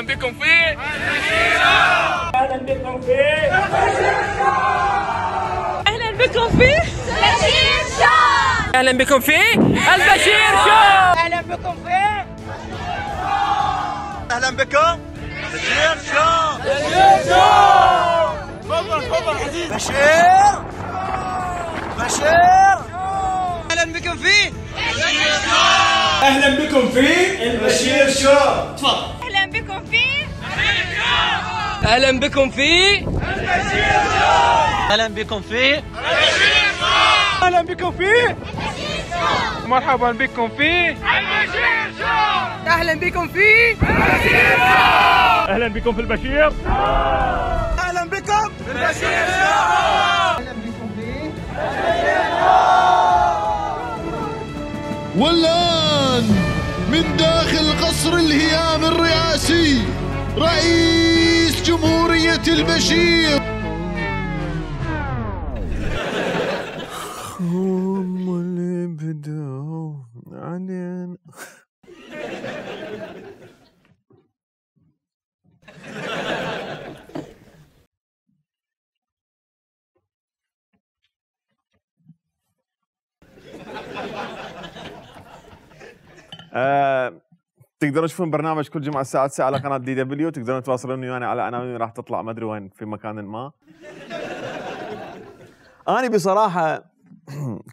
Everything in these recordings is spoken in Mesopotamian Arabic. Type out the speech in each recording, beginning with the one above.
اهلا بكم في اهلا بكم في اهلا بكم في البشير شو. اهلا بكم في البشير شو. اهلا بكم في اهلا بكم بشير شو. تفضل تفضل عزيز بشير اهلا بكم في اهلا بكم في البشير شو. تفضل اهلا بكم في اهلا بكم في اهلا بكم في اهلا بكم في مرحبا بكم في اهلا بكم في اهلا بكم في البشير اهلا بكم في البشير شو. اهلا بكم في والآن من داخل قصر الهيام الرئاسي رئيس جمهورية البشير. هم اللي بدوا علينا. تقدرون تشوفون برنامج كل جمعه الساعه 9 على قناه دي دبليو. تقدرون تواصلوني ويانا على عناوين راح تطلع ما ادري وين في مكان ما. انا بصراحه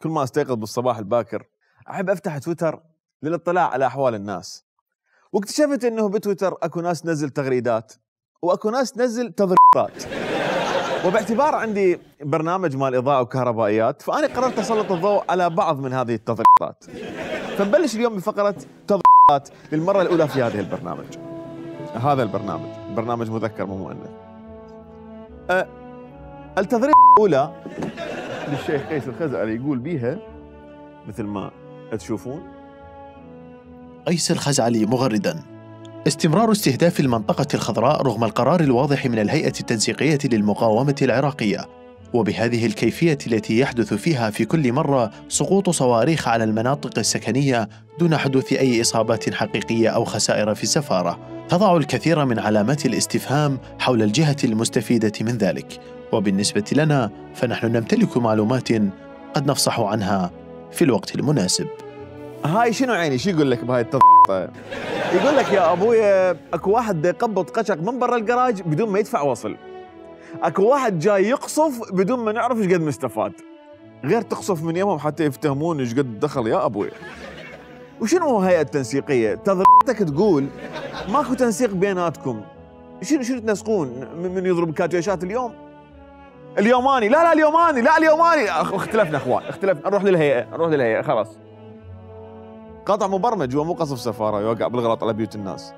كل ما استيقظ بالصباح الباكر احب افتح تويتر للاطلاع على احوال الناس، واكتشفت انه بتويتر اكو ناس تنزل تغريدات واكو ناس تنزل تضريبات. وباعتبار عندي برنامج مال اضاءه وكهربائيات فانا قررت اسلط الضوء على بعض من هذه التضريبات. فنبلش اليوم بفقره تضريبات للمره الاولى في هذه البرنامج. هذا برنامج مذكر مو مؤنث. التضريبه الاولى للشيخ قيس الخزعلي يقول بيها مثل ما تشوفون: قيس الخزعلي مغردا: استمرار استهداف المنطقة الخضراء رغم القرار الواضح من الهيئة التنسيقية للمقاومة العراقية، وبهذه الكيفية التي يحدث فيها في كل مرة سقوط صواريخ على المناطق السكنية دون حدوث أي إصابات حقيقية أو خسائر في السفارة، تضع الكثير من علامات الاستفهام حول الجهة المستفيدة من ذلك. وبالنسبة لنا فنحن نمتلك معلومات قد نفصح عنها في الوقت المناسب. هاي شنو عيني؟ شو يقول لك بهاي التضريبه؟ يقول لك يا ابويا اكو واحد يقبض قشق من برا الجراج بدون ما يدفع وصل. اكو واحد جاي يقصف بدون ما نعرف ايش قد مستفاد. غير تقصف من يمهم حتى يفتهمون ايش قد دخل يا ابويا. وشنو هيئة التنسيقية؟ تضريبتك تقول ماكو تنسيق بيناتكم. شنو تنسقون؟ من يضرب كاتيشات اليوماني لا اليوماني اختلفنا اخوان نروح للهيئة خلاص. قطع مبرمج ومو قصف سفارة يوقع بالغلط على بيوت الناس.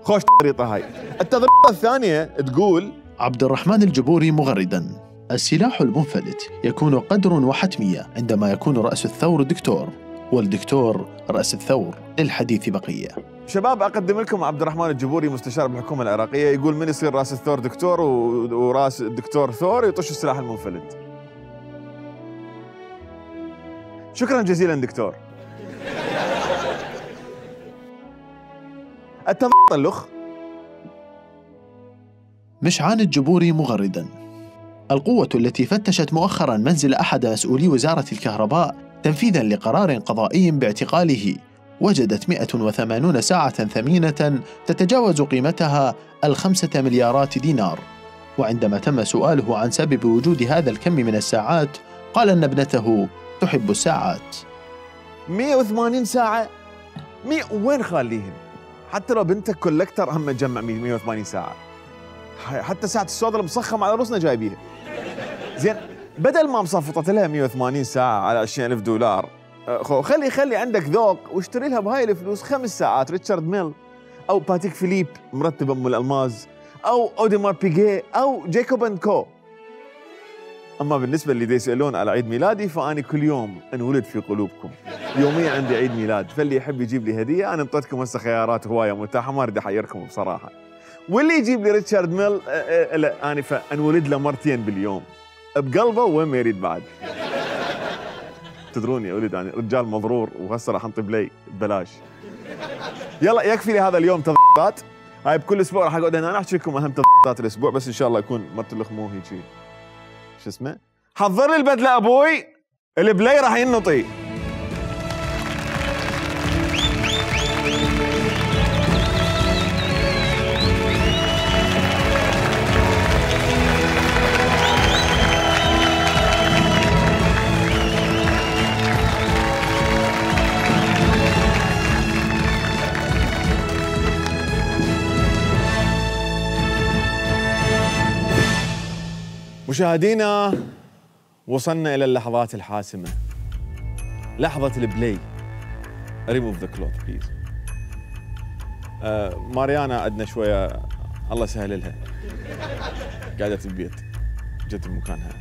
خوش الطريقة هاي. التضريبة الثانية تقول: عبد الرحمن الجبوري مغردا: السلاح المنفلت يكون قدر وحتمية عندما يكون رأس الثور دكتور والدكتور رأس الثور. للحديث بقية. شباب أقدم لكم عبد الرحمن الجبوري مستشار بالحكومة العراقية يقول من يصير رأس الثور دكتور وراس الدكتور ثور يطش السلاح المنفلت. شكرا جزيلا دكتور. التضلخ. مشعان الجبوري مغردا: القوة التي فتشت مؤخرا منزل أحد مسؤولي وزارة الكهرباء تنفيذا لقرار قضائي باعتقاله وجدت 180 ساعة ثمينة تتجاوز قيمتها 5 مليارات دينار. وعندما تم سؤاله عن سبب وجود هذا الكم من الساعات قال أن ابنته تحب الساعات. 180 ساعة؟ وين خاليهم؟ حتى لو بنتك كولكتر هم تجمع 180 ساعة. حتى ساعة السوداء المصخم على رؤوسنا جايبيها. زين بدل ما مصفطت لها 180 ساعة على 20,000 دولار، خلي عندك ذوق واشتري لها بهاي الفلوس 5 ساعات ريتشارد ميل أو باتيك فيليب مرتبة أم الألماز أو أوديمار بيغي أو جايكوب أند كو. أما بالنسبة اللي يسألون على عيد ميلادي فأنا كل يوم انولد في قلوبكم. يوميا عندي عيد ميلاد، فاللي يحب يجيب لي هدية أنا انطيتكم هسه خيارات هواية متاحة ما أريد أحيركم بصراحة. واللي يجيب لي ريتشارد ميل لا أنا فأنولد له مرتين باليوم بقلبه وين ما يريد بعد. تدرون يا ولد يعني رجال مضرور وهسه راح انطي بلاي ببلاش. يلا يكفي لي هذا اليوم تضريبات. هاي بكل اسبوع راح اقعد هنا احكي لكم اهم تضبيطات الاسبوع، بس ان شاء الله يكون مرتلخ مو هيك شو اسمه. حضر لي البدله ابوي، البلاي راح ينطي. مشاهدينا، وصلنا إلى اللحظات الحاسمة، لحظة البلاي. ريموف ذا كلوث بليز. ماريانا عندنا شوية الله يسهل لها، قاعدة بالبيت، جت بمكانها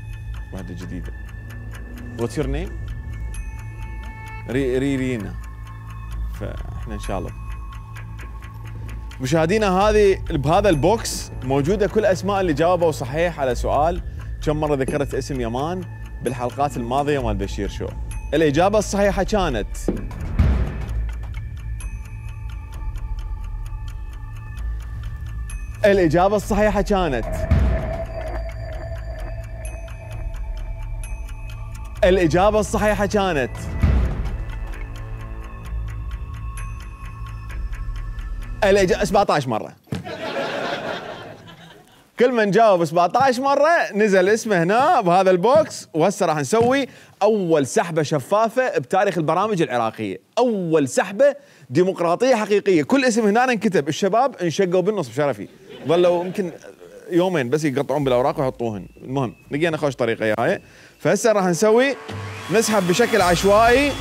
واحدة جديدة. واتس يور نيم؟ رينا. فاحنا ان شاء الله. مشاهدينا، هذه بهذا البوكس موجودة كل اسماء اللي جاوبوا صحيح على سؤال كم مرة ذكرت اسم يمان بالحلقات الماضية مال بشير شو. الإجابة الصحيحة كانت الإجابة الصحيحة كانت الإجابة الصحيحة كانت الإجابة 17 مرة. كل من جاوب 17 مرة نزل اسمه هنا بهذا البوكس. وهسه راح نسوي أول سحبة شفافة بتاريخ البرامج العراقية، أول سحبة ديمقراطية حقيقية. كل اسم هنا انكتب، الشباب انشقوا بالنص بشرفي، ظلوا يمكن يومين بس يقطعون بالأوراق ويحطوهن. المهم لقينا خوش طريقة هاي. فهسه راح نسوي نسحب بشكل عشوائي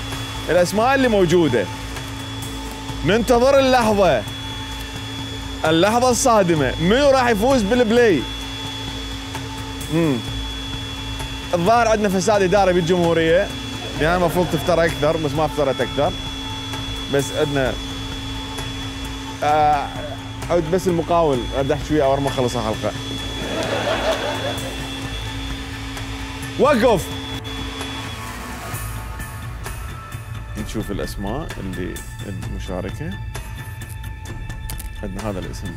الأسماء اللي موجودة. ننتظر اللحظة الصادمة، منو راح يفوز بالبلاي؟ الظاهر عندنا فساد إداري بالجمهورية، يعني المفروض تفتر أكثر بس ما افترت أكثر. بس عندنا عود بس المقاول أدح شوية أول ما خلص الحلقة. وقف. نشوف الأسماء اللي المشاركة. عندنا هذا الاسم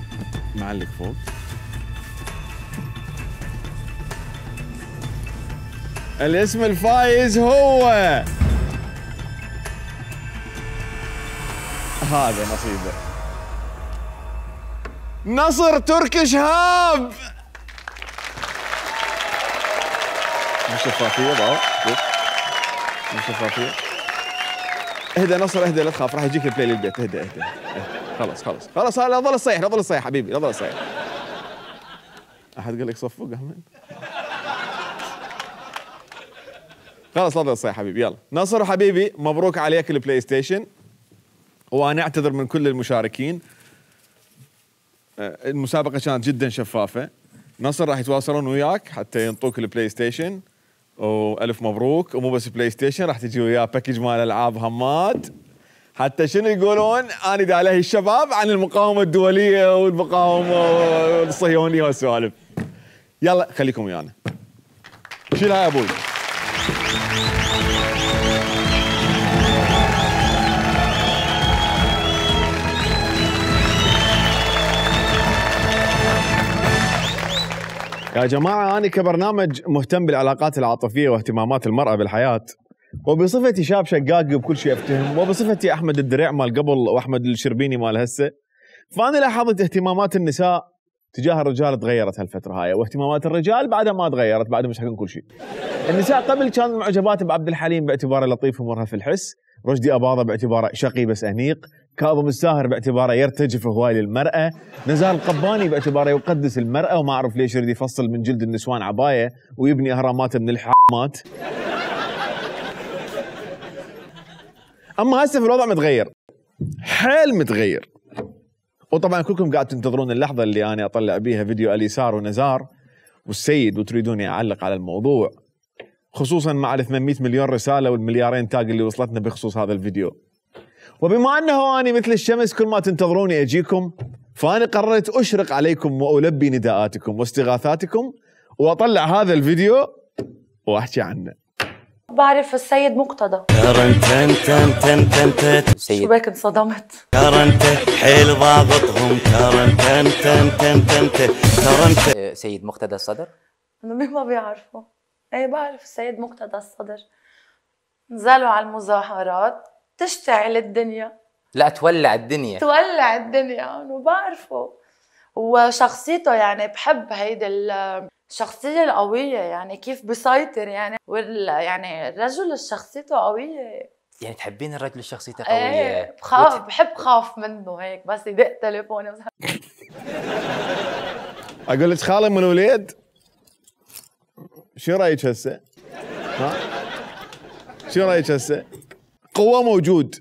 معلق فوق. الاسم الفايز هو هذا نصيبه، نصر تركي شهاب. مش شفافية بقى، مش شفافية. اهدى نصر اهدى، لا تخاف، راح يجيك البلاي للبيت. اهدى. خلاص لا ظل الصيح حبيبي، لا ظل الصيح. احد قال لك صفق احمد؟ خلاص لا ظل الصيح حبيبي. يلا نصر حبيبي، مبروك عليك البلاي ستيشن. وانا اعتذر من كل المشاركين، المسابقة كانت جدا شفافة. نصر راح يتواصلون وياك حتى ينطوك البلاي ستيشن، والف مبروك. ومو بس بلاي ستيشن، راح تجي وياه باكج مال العاب همات، حتى شنو يقولون اني دا عليه الشباب عن المقاومة الدولية والمقاومة الصهيونية والسوالف. يلا خليكم ويانا. شيلها يا ابوي. يا جماعة، أنا كبرنامج مهتم بالعلاقات العاطفية واهتمامات المرأة بالحياة، وبصفتي شاب شقاقي وبكل شيء أفتهم، وبصفتي أحمد الدريع مال قبل وأحمد الشربيني مال هسه، فأنا لاحظت اهتمامات النساء تجاه الرجال تغيرت هالفترة هاي، واهتمامات الرجال بعدها ما تغيرت، بعدها مش حقن كل شيء. النساء قبل كانوا معجبات بعبد الحليم باعتباره لطيف ومرهف الحس، رشدي أباظة باعتباره شقي بس أنيق، كاظم الساهر باعتباره يرتجف هواي للمرأة، نزار القباني باعتباره يقدس المرأة وما أعرف ليش يريد يفصل من جلد النسوان عباية ويبني أهرامات من الحامات. أما هسه في الوضع متغير، حيل متغير. وطبعا كلكم قاعد تنتظرون اللحظة اللي أنا أطلع بيها فيديو اليسار ونزار والسيد، وتريدوني أعلق على الموضوع، خصوصا مع ال 800 مليون رسالة والمليارين تاج اللي وصلتنا بخصوص هذا الفيديو. وبما أنه أنا مثل الشمس كل ما تنتظروني أجيكم، فأنا قررت أشرق عليكم وألبي نداءاتكم واستغاثاتكم وأطلع هذا الفيديو وأحكي عنه. بعرف السيد مقتدى. شو بك انصدمت؟ حيل ضابطهم سيد مقتدى الصدر؟ مين ما بيعرفه؟ ايه بعرف السيد مقتدى الصدر. نزلوا على المظاهرات تشتعل الدنيا. لا تولع الدنيا. تولع الدنيا وبعرفه. وشخصيته يعني بحب هيدي الشخصية القوية، يعني كيف بيسيطر يعني يعني الرجل شخصيته قوية. يعني تحبين الرجل شخصيته قوية؟ ايه بحب خاف منه هيك بس يدق تليفوني. اقول لك خالي من الوليد شو رايك هسه؟ ها؟ شو رايك هسه؟ قوة موجود،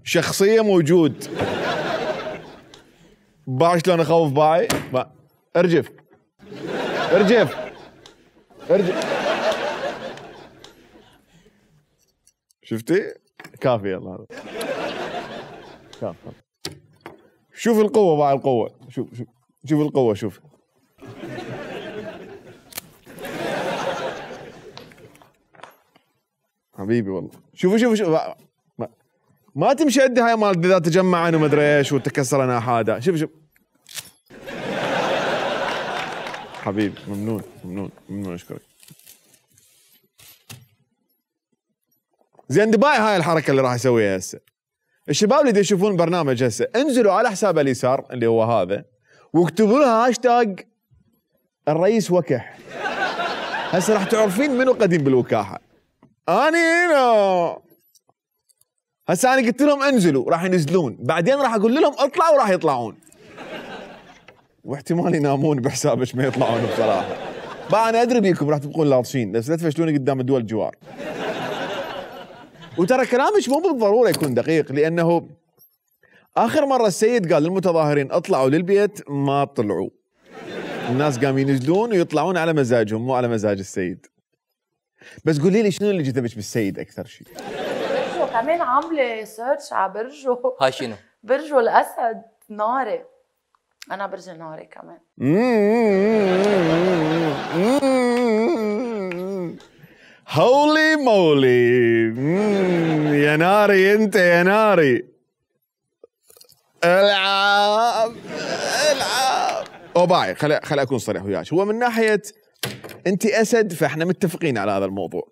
شخصية موجود. باع شلون اخوف باعي؟ ارجف ارجف ارجف. شفتي؟ كافي يلا هذا. كافي. شوف القوة باع القوة، شوف القوة شوف. حبيبي والله شوف ما تمشي عندي هاي مال اذا تجمعن وما ادري ايش وتكسر اناحاده. شوف حبيبي ممنون اشكرك. زين دبي هاي الحركه اللي راح اسويها هسه. الشباب اللي يشوفون برنامج هسه انزلوا على حساب اليسار اللي هو هذا واكتبوا لها هاشتاج الرئيس وكح. هسه راح تعرفين منو قديم بالوكاحه. اني هنا هسه انا قلت لهم انزلوا راح ينزلون، بعدين راح اقول لهم اطلعوا راح يطلعون، واحتمال ينامون بحسابك ما يطلعون بصراحه. بقى انا ادري بيكم راح تبقون لاطشين بس لا تفشلوني قدام الدول الجوار. وترى كلامك مو بالضروره يكون دقيق، لانه اخر مره السيد قال للمتظاهرين اطلعوا للبيت ما طلعوا. الناس قاموا ينزلون ويطلعون على مزاجهم مو على مزاج السيد. بس قولي لي شنو اللي جذبك بالسيد اكثر شيء؟ برجو كمان عامله سيرش على برجو. هاي شنو؟ برجو الاسد ناري. انا برج ناري كمان. هولي مولي. يا ناري انت يا ناري. العب باعي خلي اكون صريح وياك. هو من ناحيه انت اسد فاحنا متفقين على هذا الموضوع،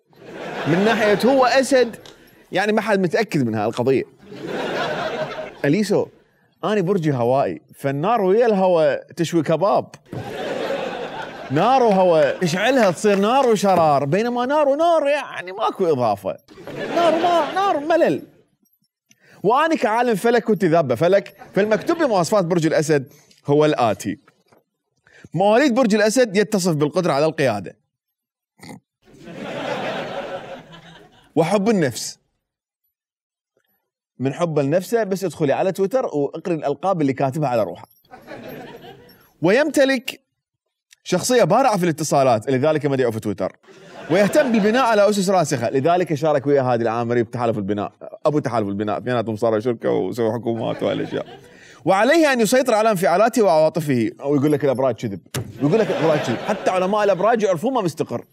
من ناحيه هو اسد يعني ما حد متاكد من هالقضيه. اليسو انا برجي هوائي، فالنار ويا الهواء تشوي كباب. نار وهواء اشعلها تصير نار وشرار، بينما نار ونار يعني ماكو اضافه. نار ملل. وانا كعالم فلك كنت ذابه فلك، فالمكتوب بمواصفات برج الاسد هو الاتي: مواليد برج الاسد يتصف بالقدره على القياده وحب النفس. من حب لنفسه بس ادخلي على تويتر واقري الالقاب اللي كاتبها على روحه. ويمتلك شخصيه بارعه في الاتصالات لذلك مدعو في تويتر، ويهتم بالبناء على اسس راسخه لذلك شارك ويا هادي العامري بتحالف البناء، ابو تحالف البناء، اثنيناتهم صاروا شركه وسووا حكومات وهالاشياء. وعليه ان يسيطر على انفعالاته وعواطفه. ويقول لك الابراج كذب، ويقول لك الابراج كذب، حتى علماء الابراج يعرفون ما مستقر.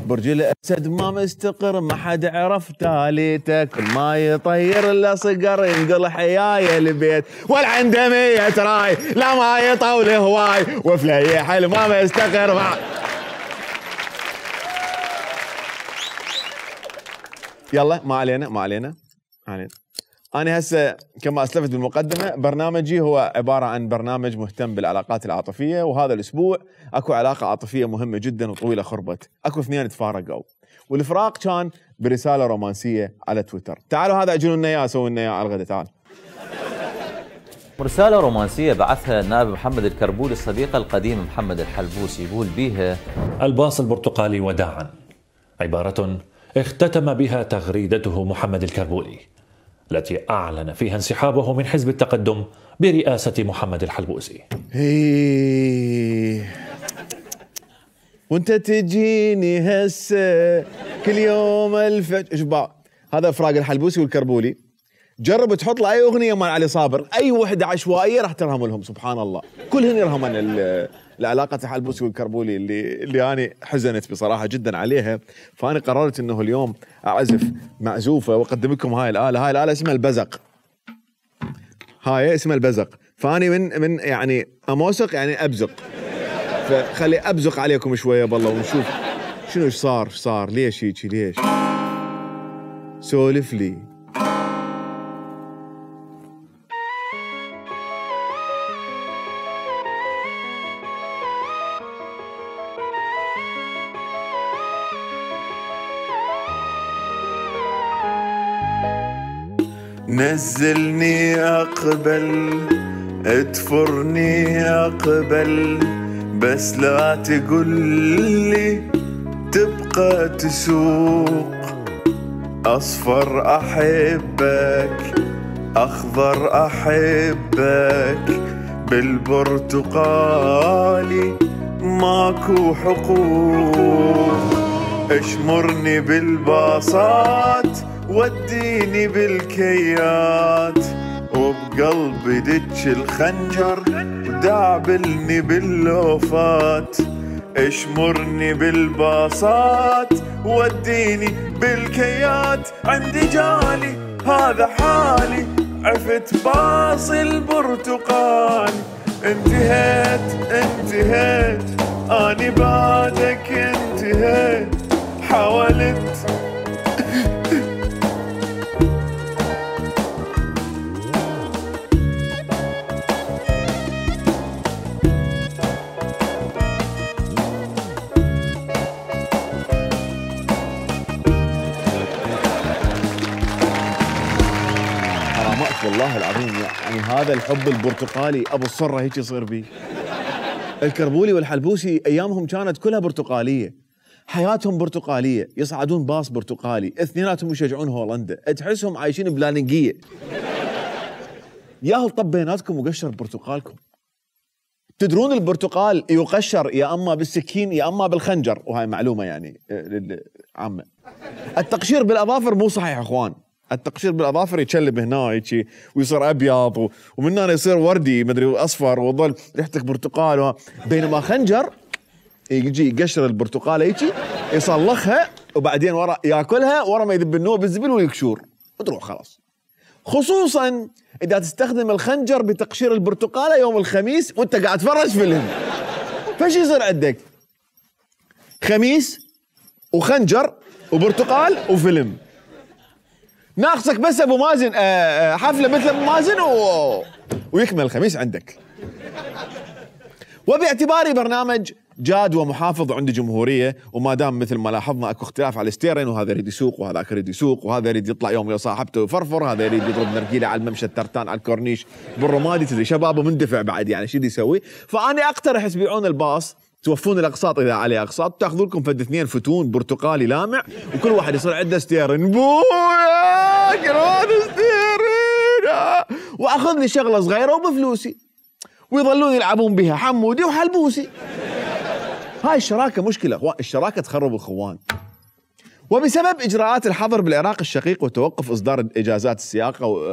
برج الاسد ما مستقر، ما حد عرف تاليته، كل ما يطير الا صقر ينقل حيايه البيت، ولا عنده 100 راي لا ما يطول هواي، وفي حل ما مستقر يلا ما علينا. أنا هسه كما أسلفت بالمقدمة برنامجي هو عبارة عن برنامج مهتم بالعلاقات العاطفية، وهذا الأسبوع أكو علاقة عاطفية مهمة جدا وطويلة خربت، أكو اثنين تفارقوا، والفراق كان برسالة رومانسية على تويتر. تعالوا هذا أجلوا لنا إياه، سووا لنا إياه على الغداء. تعال. رسالة رومانسية بعثها النائب محمد الكربولي الصديق القديم محمد الحلبوسي، يقول بيها: الباص البرتقالي وداعا، عبارة اختتم بها تغريدته محمد الكربولي التي أعلن فيها انسحابه من حزب التقدم برئاسة محمد الحلبوسي. وانت تجيني هسه كل يوم اشبع. هذا فراق الحلبوسي والكربولي. جرب تحط له اي اغنيه مال علي صابر، اي وحده عشوائيه راح ترهم لهم، سبحان الله كلهن يرهمن لعلاقه الحلبوسي والكربولي اللي انا حزنت بصراحه جدا عليها. فانا قررت انه اليوم اعزف معزوفه واقدم لكم هاي الاله اسمها البزق. هاي اسمها البزق. فاني من يعني اموسق يعني ابزق. فخلي ابزق عليكم شويه بالله ونشوف شنو صار ليش هيك ليش. سولف لي. نزلني أقبل ادفرني أقبل بس لا تقول لي تبقى تسوق. أصفر أحبك أخضر أحبك بالبرتقالي ماكو حقوق. اشمرني بالباصات وديني بالكيات وبقلبي دج الخنجر ودعبلني باللوفات. اشمرني بالباصات وديني بالكيات عندي جالي هذا حالي عفت باص البرتقال. انتهيت اني بعدك انتهيت حاولت والله العظيم. يعني هذا الحب البرتقالي ابو الصره هيك يصير بيه. الكربولي والحلبوسي ايامهم كانت كلها برتقاليه، حياتهم برتقاليه، يصعدون باص برتقالي، اثنيناتهم يشجعون هولندا، تحسهم عايشين بلاننجيه. ياهو طب بيناتكم وقشر برتقالكم. تدرون البرتقال يقشر يا اما بالسكين يا اما بالخنجر، وهاي معلومه يعني عامه. التقشير بالاظافر مو صحيح اخوان. التقشير بالاظافر يتشلب هنا هيك ويصير ابيض ومن هنا يصير وردي مدري اصفر وظل ريحتك برتقال. بينما خنجر يجي يقشر البرتقاله هيك يصلخها وبعدين ورا ياكلها ورا ما يذب النوع بالزبل ويكشور وتروح خلاص. خصوصا اذا تستخدم الخنجر بتقشير البرتقاله يوم الخميس وانت قاعد تفرج فيلم. فايش يصير عندك؟ خميس وخنجر وبرتقال وفيلم. ناقصك بس ابو مازن حفله مثل ابو مازن ويكمل الخميس عندك. وباعتباري برنامج جاد ومحافظ عند جمهوريه، وما دام مثل ما لاحظنا اكو اختلاف على الستيرن، وهذا يريد يسوق وهذاك يريد يسوق، وهذا يريد يطلع يوم ويا صاحبته ويفرفر، هذا يريد يضرب نرجيله على الممشى الترتان على الكورنيش بالرمادي، تدري شبابه مندفع بعد يعني شو يسوي. فاني اقترح تبيعون الباص، توفون الاقساط اذا عليه اقساط، تاخذوا لكم فد 2 فتون برتقالي لامع وكل واحد يصير عنده ستيرن. بويا كرهان ستيرن، واخذ لي شغله صغيره وبفلوسي ويظلون يلعبون بها حمودي وحلبوسي. هاي الشراكه مشكله اخوان، الشراكه تخرب الاخوان. وبسبب اجراءات الحظر بالعراق الشقيق وتوقف اصدار اجازات السياقه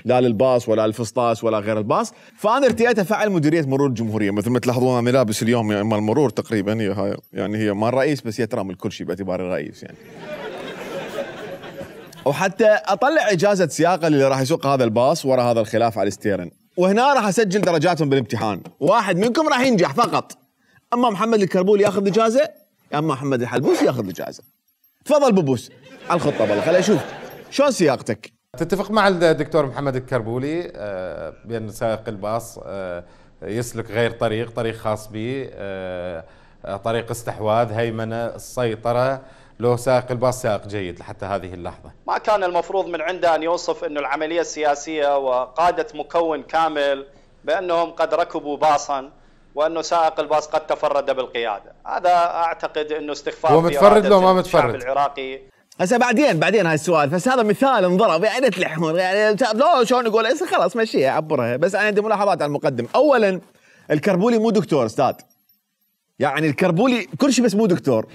لا للباص ولا للفسطاس ولا غير الباص، فانا ارتئيت افعل مديريه مرور الجمهوريه. مثل ما تلاحظون انا لابس اليوم مال المرور تقريبا، هي هاي يعني هي مال الرئيس بس هي ترى من كل شيء باعتباري الرئيس يعني. وحتى اطلع اجازه سياقه اللي راح يسوق هذا الباص ورا هذا الخلاف على الستيرن، وهنا راح اسجل درجاتهم بالامتحان. واحد منكم راح ينجح فقط، اما محمد الكربولي ياخذ اجازه يا اما محمد الحلبوسي ياخذ اجازه. تفضل بوبوس على الخطه بالله، خليني اشوف شلون سياقتك. تتفق مع الدكتور محمد الكربولي بأن سائق الباص يسلك غير طريق خاص به، طريق استحواذ، هيمنة، السيطرة، لو سائق الباص سائق جيد لحتى هذه اللحظة؟ ما كان المفروض من عنده أن يوصف أنه العملية السياسية وقادة مكون كامل بأنهم قد ركبوا باصا وأنه سائق الباص قد تفرد بالقيادة. هذا أعتقد أنه استخفاف. هو متفرد لو ما متفرد؟ الشعب العراقي هسه بعدين هاي السؤال، بس هذا مثال انضرب يعني تلحون يعني لا شلون نقول خلاص مشيها عبرها. بس انا عندي ملاحظات على المقدم. اولا الكربولي مو دكتور استاذ، يعني الكربولي كل شيء بس مو دكتور.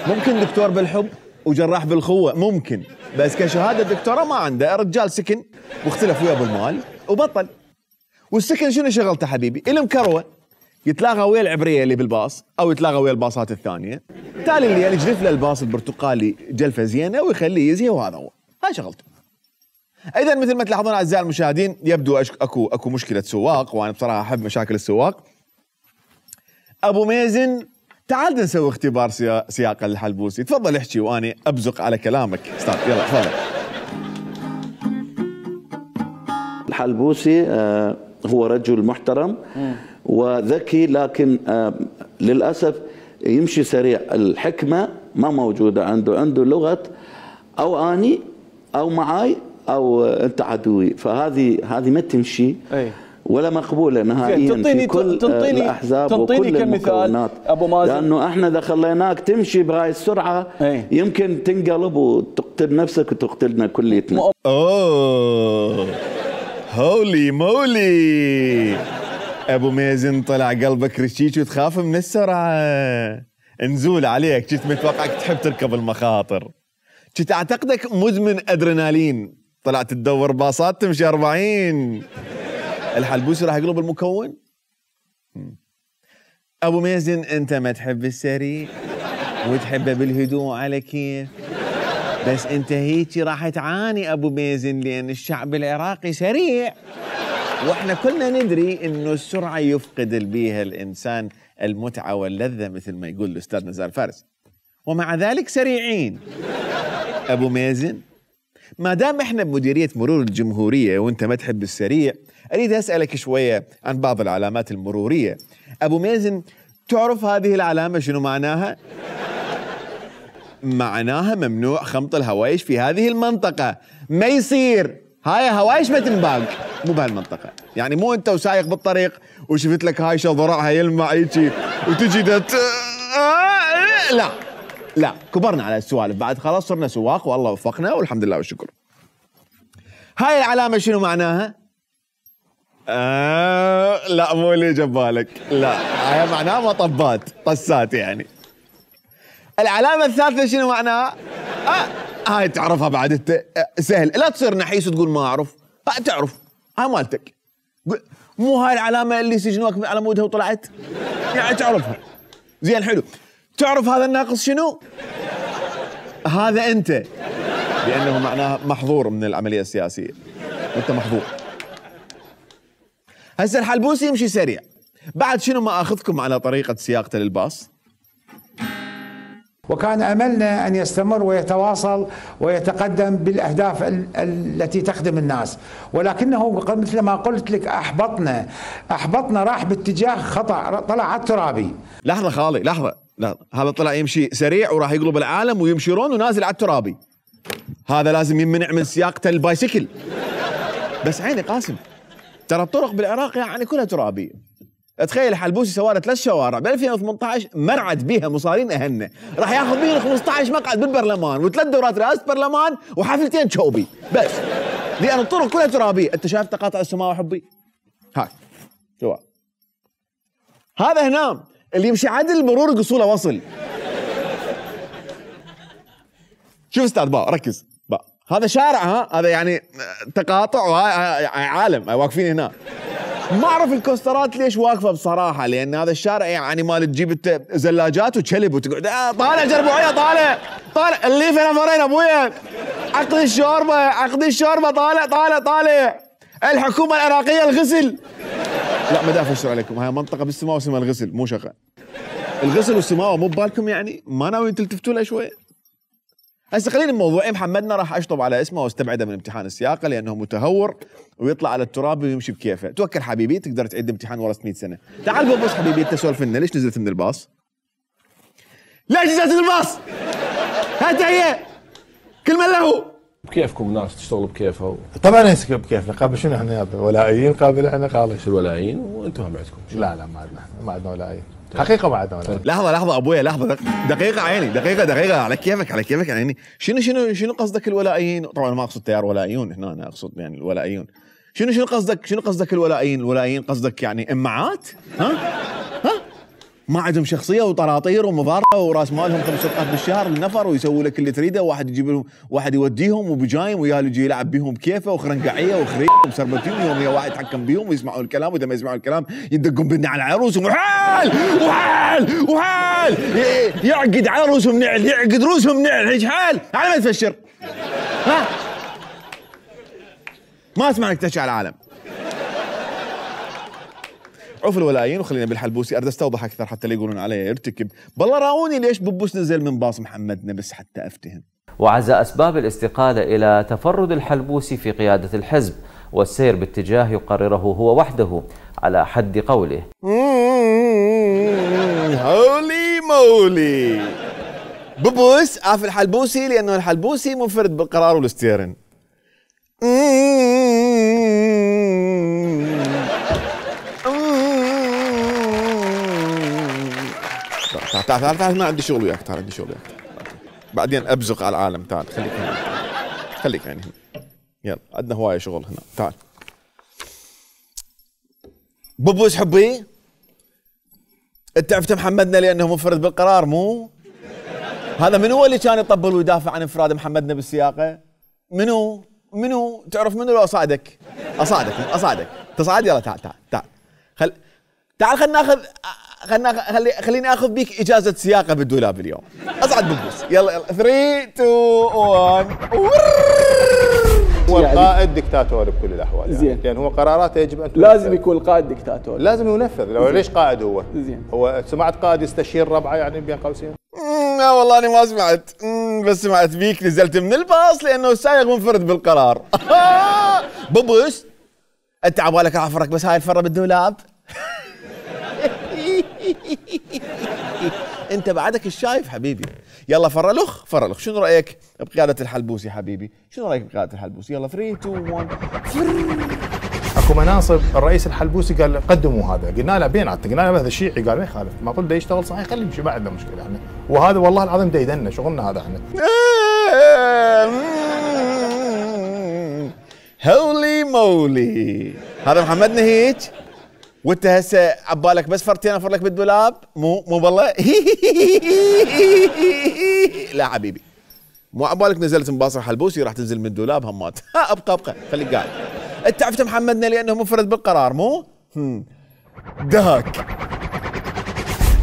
ممكن دكتور بالحب وجراح بالخوه ممكن، بس كشهاده دكتوراه ما عنده. رجال سكن واختلف وياه بالمال وبطل. والسكن شنو شغلته حبيبي؟ المكروه يتلاغى ويا العبريه اللي بالباص او يتلاغى ويا الباصات الثانيه. بالتالي اللي يجلف له الباص البرتقالي جلفه زينه ويخليه يزهي، وهذا هو، هاي شغلته. اذا مثل ما تلاحظون اعزائي المشاهدين، يبدو اكو مشكله سواق، وانا بصراحه احب مشاكل السواق. ابو ميزن تعال نسوي اختبار سياقه للحلبوسي، تفضل احكي وانا ابزق على كلامك استاذ، يلا تفضل. الحلبوسي هو رجل محترم وذكي، لكن للأسف يمشي سريع، الحكمة ما موجودة عنده لغة أو أني أو معاي أو أنت عدوي، فهذه ما تمشي ولا مقبولة نهائيا في كل الأحزاب وكل المكونات. أبو مازن، لأنه احنا إذا خليناك تمشي بهاي السرعة يمكن تنقلب وتقتل نفسك وتقتلنا كليتنا. أوه هولي مولي، ابو ميزن طلع قلبك رشيش وتخاف من السرعه، نزول عليك، كنت متوقعك تحب تركب المخاطر، كنت اعتقدك مدمن ادرينالين، طلعت تدور باصات تمشي 40. الحلبوسي راح يقلب المكون. ابو ميزن انت ما تحب السريع وتحبه بالهدوء على كيف، بس انت هيك راح تعاني ابو ميزن، لان الشعب العراقي سريع، واحنا كلنا ندري انه السرعه يفقد بيها الانسان المتعه واللذه مثل ما يقول الاستاذ نزار فارس، ومع ذلك سريعين. ابو ميزن، ما دام احنا بمديريه مرور الجمهوريه وانت ما تحب السريع، اريد اسالك شويه عن بعض العلامات المروريه. ابو ميزن، تعرف هذه العلامه شنو معناها؟ معناها ممنوع خمط الهوايش في هذه المنطقة، ما يصير، هاي هوايش ما تنباق، مو بهالمنطقة، يعني مو انت وسايق بالطريق وشفت لك هايشة ضرعها يلمع هيجي وتجي لا كبرنا على السوالف بعد، خلاص صرنا سواق والله وفقنا والحمد لله والشكر. هاي العلامة شنو معناها؟ لا مو اللي جبالك، لا هاي معناها مطبات طسات يعني. العلامة الثالثة شنو معناها؟ هاي تعرفها بعد انت، سهل، لا تصير نحيس وتقول ما اعرف، تعرف، هاي مالتك، مو هاي العلامة اللي سجنوك على مودها وطلعت؟ يعني تعرفها. زين حلو. تعرف هذا الناقص شنو؟ هذا انت، لانه معناها محظور من العملية السياسية، وانت محظور. هسه الحلبوسي يمشي سريع، بعد شنو ما اخذكم على طريقة سياقته للباص؟ وكان أملنا أن يستمر ويتواصل ويتقدم بالأهداف التي تخدم الناس، ولكنه مثل ما قلت لك أحبطنا، راح باتجاه خطأ، طلع على الترابي. لحظة خالي، لحظة، هذا طلع يمشي سريع وراح يقلب العالم ويمشيرون ونازل على الترابي، هذا لازم يمنع من سياقته البايسكل. بس عيني قاسم، ترى الطرق بالعراق يعني كلها ترابية. تخيل حلبوسي سوى له 3 شوارع ب 2018 مرعد بيها مصارين اهلنا، راح ياخذ بيهم 15 مقعد بالبرلمان و3 دورات رئاسه برلمان وحفلتين شوبي بس، لان الطرق كلها ترابيه. انت شايف تقاطع السماوه حبي؟ هاي شو هذا هنا اللي يمشي عدل المرور قصوله وصل. شوف استاذ باء، ركز باء، هذا شارع، هذا يعني تقاطع وهاي عالم واقفين هنا. ما اعرف الكوسترات ليش واقفه بصراحه، لان هذا الشارع يعني مال تجيب انت زلاجات وتشلب وتقعد طالع جربوعيه، طالع اللي في نفرين ابويا، عقد الشوربه طالع الحكومه العراقيه الغسل. لا ما دافع اشتري عليكم، هاي منطقه بالسماء واسمها الغسل، مو شغال. الغسل والسماوه مو ببالكم، يعني ما ناويين تلتفتوا له شوي؟ هسه خلينا بموضوعي. محمدنا راح اشطب على اسمه واستبعده من امتحان السياقه لانه متهور ويطلع على التراب ويمشي بكيفه. توكل حبيبي، تقدر تعيد امتحان ورا 100 سنه. تعال بس حبيبي، انت سولف لنا، ليش نزلت من الباص؟ ليش نزلت من الباص؟ هات هي كل من له بكيفكم، الناس تشتغل بكيفها طبعا هسه بكيفنا. قابل شنو احنا ولائيين؟ قابل احنا خالص شو الولائيين وانتم هم عندكم؟ لا ما عندنا ولائيين حقيقه، ما عندنا ولائيين. لحظه ابويا، لحظه دقيقه عيني، دقيقه على كيفك يعني. شنو قصدك الولائيين؟ طبعا ما اقصد تيار ولائيون هنا، انا اقصد يعني الولائيون. شنو قصدك الولائيين؟ الولائيين قصدك يعني امعات؟ ها ما عندهم شخصيه وطراطير ومضاربه وراس مالهم 5 صفقات بالشهر للنفر ويسووا لك اللي تريده، واحد يجيب لهم واحد يوديهم وبجايم وياه يجي يلعب بيهم بكيفه وخرنقعيه وخريق ومسربتين يوم واحد يتحكم بيهم ويسمعون الكلام، واذا ما يسمعون الكلام يدقون بدنا على عروسهم وحال وحال وحال يعقد عروسهم نعل يعقد روسهم نعل هيك حال على ما تفشر. ها ما اسمع لك تحكي على العالم. عوف الولايين وخلينا بالحلبوسي، اريد استوضح اكثر حتى لا يقولون علي يرتكب. بالله راوني ليش ببوس نزل من باص محمدنا بس حتى افتهم. وعزا أسباب الاستقالة إلى تفرد الحلبوسي في قيادة الحزب والسير باتجاه يقرره هو وحده على حد قوله. هولي مولي ببوس عاف الحلبوسي لأنه الحلبوسي منفرد بالقرار والاستيرن. تعال ما عندي شغل وياك، تعال عندي شغل وياك بعدين ابزق على العالم. تعال خليك هنا، خليك يعني هنا، يلا عندنا هوايه شغل هنا. تعال ببوس حبي، انت عرفت محمدنا لانه منفرد بالقرار مو؟ هذا من هو اللي كان يطبل ويدافع عن انفراد محمدنا بالسياقه؟ منو؟ تعرف منو؟ لو اصعدك تصعد. يلا تعال تعال خليني اخذ بيك اجازه سياقه بالدولاب اليوم. اصعد ببوس. يلا 3 2 1. هو القائد دكتاتوري بكل الاحوال يعني. لان هو قراراته يجب ان لازم يكون القائد دكتاتوري، لازم ينفذ. لو ليش قائد هو؟ زين. هو سمعت قائد يستشير ربعه يعني بين قوسين؟ لا والله انا ما سمعت، بس سمعت بيك نزلت من الباص لانه السايق منفرد بالقرار. ببوس انت عبالك راح افرك بس هاي الفره بالدولاب. انت بعدك الشايف حبيبي. يلا فرلخ شنو رايك بقياده الحلبوسي حبيبي؟ شنو رايك بقياده الحلبوسي؟ يلا 3 2 1. اكو مناصب الرئيس الحلبوسي قال قدموا هذا، قلنا له بين قلنا له هذا شيعي، قال ما يخالف، ما قلت يشتغل صحيح خليه يمشي ما عندنا مشكله احنا، وهذا والله العظيم ديدنا شغلنا هذا احنا. هولي مولي هذا محمدنا هيك، وانت هسه عبالك بس فرتين افر لك بالدولاب؟ مو بالله. لا حبيبي مو عبالك نزلت من باصر حلبوسي راح تنزل من الدولاب همات. ابقى خليك قاعد. انت عرفت محمدنا لانه منفرد بالقرار مو؟ دهك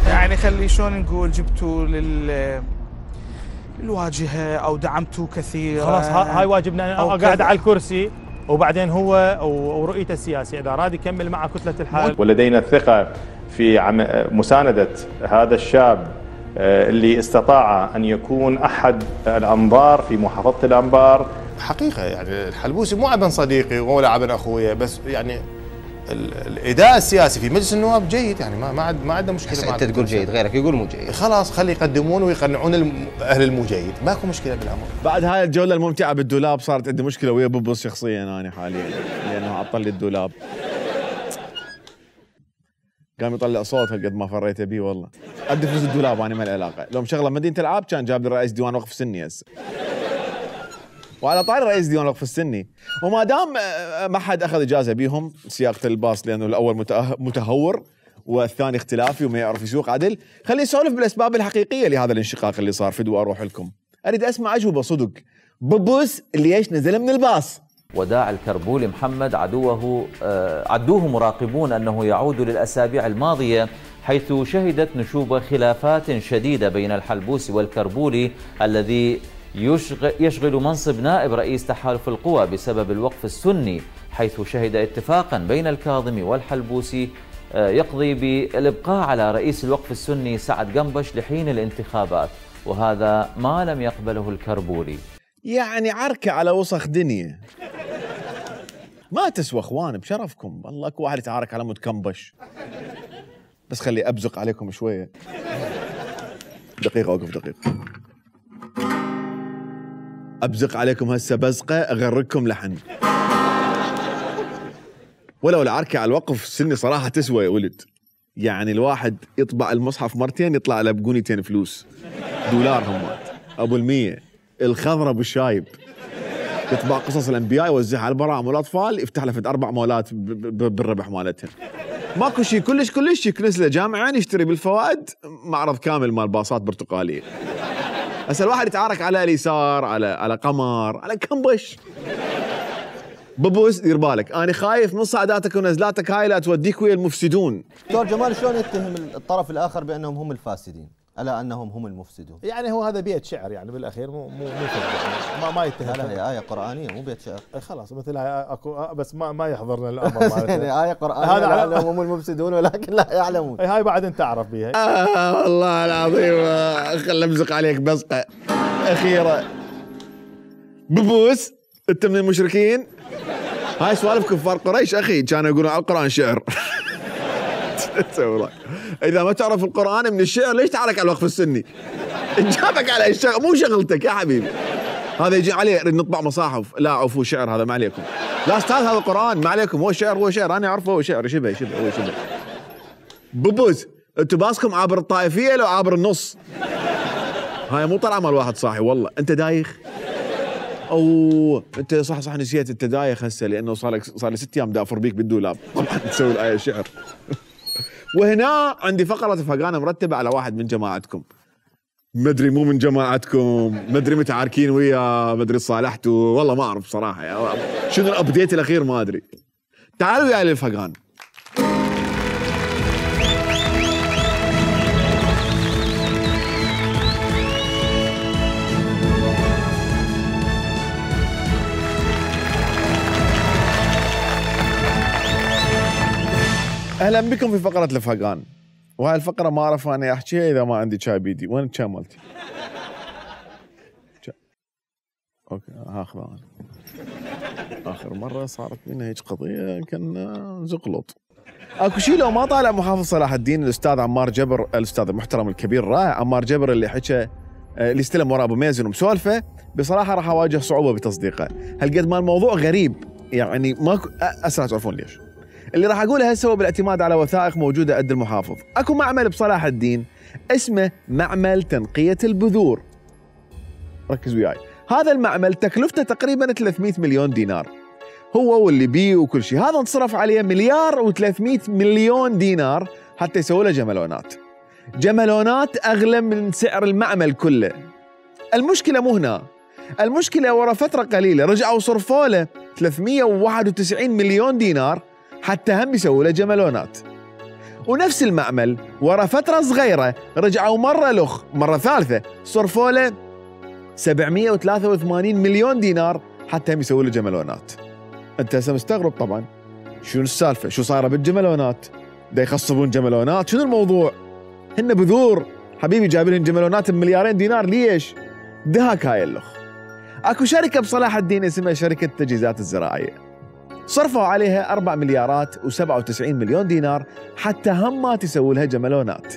يعني خلي شلون نقول جبتوا للواجهه او دعمتوا كثير. خلاص هاي واجبنا. انا قاعد على الكرسي وبعدين هو ورؤيته السياسي اذا اراد يكمل مع كتله الحال. ولدينا الثقه في مسانده هذا الشاب اللي استطاع ان يكون احد الانظار في محافظه الانبار. حقيقه يعني الحلبوسي مو عبن صديقي ولا عبن اخويا، بس يعني الاداء السياسي في مجلس النواب جيد يعني ما عندنا مشكله. انت تقول جيد غيرك يقول مو جيد، خلاص خلي يقدمون ويقنعون اهل المو جيد، ماكو مشكله بالامر. بعد هاي الجوله الممتعه بالدولاب صارت عندي مشكله ويا ببوس شخصيا انا حاليا لانه عطل لي الدولاب، قام يطلع صوت هالقد ما فريته بيه والله. ادي فلوس الدولاب انا ما له علاقه، لو مشغله مدينه العاب كان جاب لي رئيس ديوان وقف سني هسه. وعلى طاري رئيس ديوان وقف السني، وما دام ما حد اخذ اجازه بيهم سياقه الباص لانه الاول متهور والثاني اختلافي وما يعرف يسوق عدل، خليني اسولف بالاسباب الحقيقيه لهذا الانشقاق اللي صار فدوا اروح لكم. اريد اسمع اجوبه صدق. ببوس ليش نزل من الباص؟ وداع الكربولي محمد عدوه مراقبون أنه يعود للأسابيع الماضية حيث شهدت نشوب خلافات شديدة بين الحلبوسي والكربولي الذي يشغل منصب نائب رئيس تحالف القوى بسبب الوقف السني، حيث شهد اتفاقا بين الكاظمي والحلبوسي يقضي بالإبقاء على رئيس الوقف السني سعد قنبش لحين الانتخابات، وهذا ما لم يقبله الكربولي. يعني عركة على وسخ دنيا ما تسوى اخوان بشرفكم. والله اكو واحد يتعارك على مود كنبش. بس خلي ابزق عليكم شويه. دقيقه اوقف دقيقه. ابزق عليكم هسه بزقه اغرقكم لحن. ولو العركه على الوقف السني صراحه تسوى يا ولد. يعني الواحد يطبع المصحف مرتين يطلع له بقونيتين فلوس دولار همات ابو المية. الخضره بالشايب يطبع قصص الانبياء يوزعها على البراعم والاطفال يفتح له 4 مولات بالربح مالتهم. ماكو شيء كلش يكنس له جامعين يشتري بالفوائد معرض كامل مال باصات برتقاليه. هسه الواحد يتعارك على اليسار، على قمر، على كمبش. ببوس دير بالك، انا خايف من صعداتك ونزلاتك هاي لا توديك ويا المفسدون. دكتور جمال شلون يتهم الطرف الاخر بانهم هم الفاسدين الا انهم هم المفسدون؟ يعني هو هذا بيت شعر يعني بالاخير مو ما يتهم. لا هي ايه قرانيه مو بيت شعر. خلاص مثل اكو بس ما يحضرنا الامر مالتها. ايه قرانيه هذا انهم هم المفسدون ولكن لا يعلمون. هاي بعد انت تعرف بها. والله العظيم خل امزق عليك بزقه اخيره. ببوس انت من المشركين؟ هاي سوالف كفار قريش اخي، كانوا يقولون على القران شعر. تسوي اذا ما تعرف القران من الشعر ليش تعارك على الوقف السني؟ جابك على الشغل مو شغلتك يا حبيبي. هذا يجي عليه نطبع مصاحف، لا عفو شعر هذا ما عليكم. لا استاذ هذا قران ما عليكم، هو شعر انا اعرفه هو شعر شبه. ببوس انتوا باسكم عابر الطائفيه لو عابر النص. هاي مو طلعه مال واحد صاحي والله. انت دايخ؟ اوه انت صح نسيت انت دايخ هسه لانه صار لي 6 ايام دافر بيك بالدولاب. تسوي الايه شعر. وهنا عندي فقره فقانه مرتبه على واحد من جماعتكم. مدري مو من جماعتكم، مدري متعاركين وياه، مدري صالحتوا، والله ما اعرف صراحه شنو الابديت الاخير ما ادري. تعالوا وياي للفقان. اهلا بكم في فقره الفقان. وهاي الفقره ما اعرف انا احكيها اذا ما عندي شاي بيدي. وين الشاي مالتي؟ اوكي هاخذه انا. اخر مره صارت لنا هيك قضيه كنا زقلط. اكو شيء لو ما طالع محافظ صلاح الدين الاستاذ عمار جبر، الاستاذ المحترم الكبير الرائع عمار جبر اللي حكى اللي استلم ورا ابو ميزن ومسولفه، بصراحه راح اواجه صعوبه بتصديقه. هالقد ما الموضوع غريب يعني ماكو اسرع تعرفون ليش. اللي راح اقوله هسه هو بالاعتماد على وثائق موجوده عند المحافظ. اكو معمل بصلاح الدين اسمه معمل تنقيه البذور. ركز وياي. هذا المعمل تكلفته تقريبا 300 مليون دينار. هو واللي بيه وكل شيء، هذا انصرف عليه 1,300,000,000 دينار حتى يسوي له جملونات. جملونات اغلى من سعر المعمل كله. المشكله مو هنا. المشكله ورا فتره قليله رجعوا صرفوا له 391 مليون دينار حتى هم يسووا له جملونات. ونفس المعمل ورا فترة صغيرة رجعوا مرة ثالثة صرفوا له 783 مليون دينار حتى هم يسووا له جملونات. انت هسه مستغرب طبعا شنو السالفة؟ شو صار بالجملونات؟ دا يخصبون جملونات؟ شنو الموضوع؟ هن بذور حبيبي جايب لهم جملونات بمليارين دينار ليش؟ دهاك هاي اللخ. اكو شركة بصلاح الدين اسمها شركة التجهيزات الزراعية، صرفوا عليها 4,097 مليون دينار حتى هم ما تسوي لها جملونات.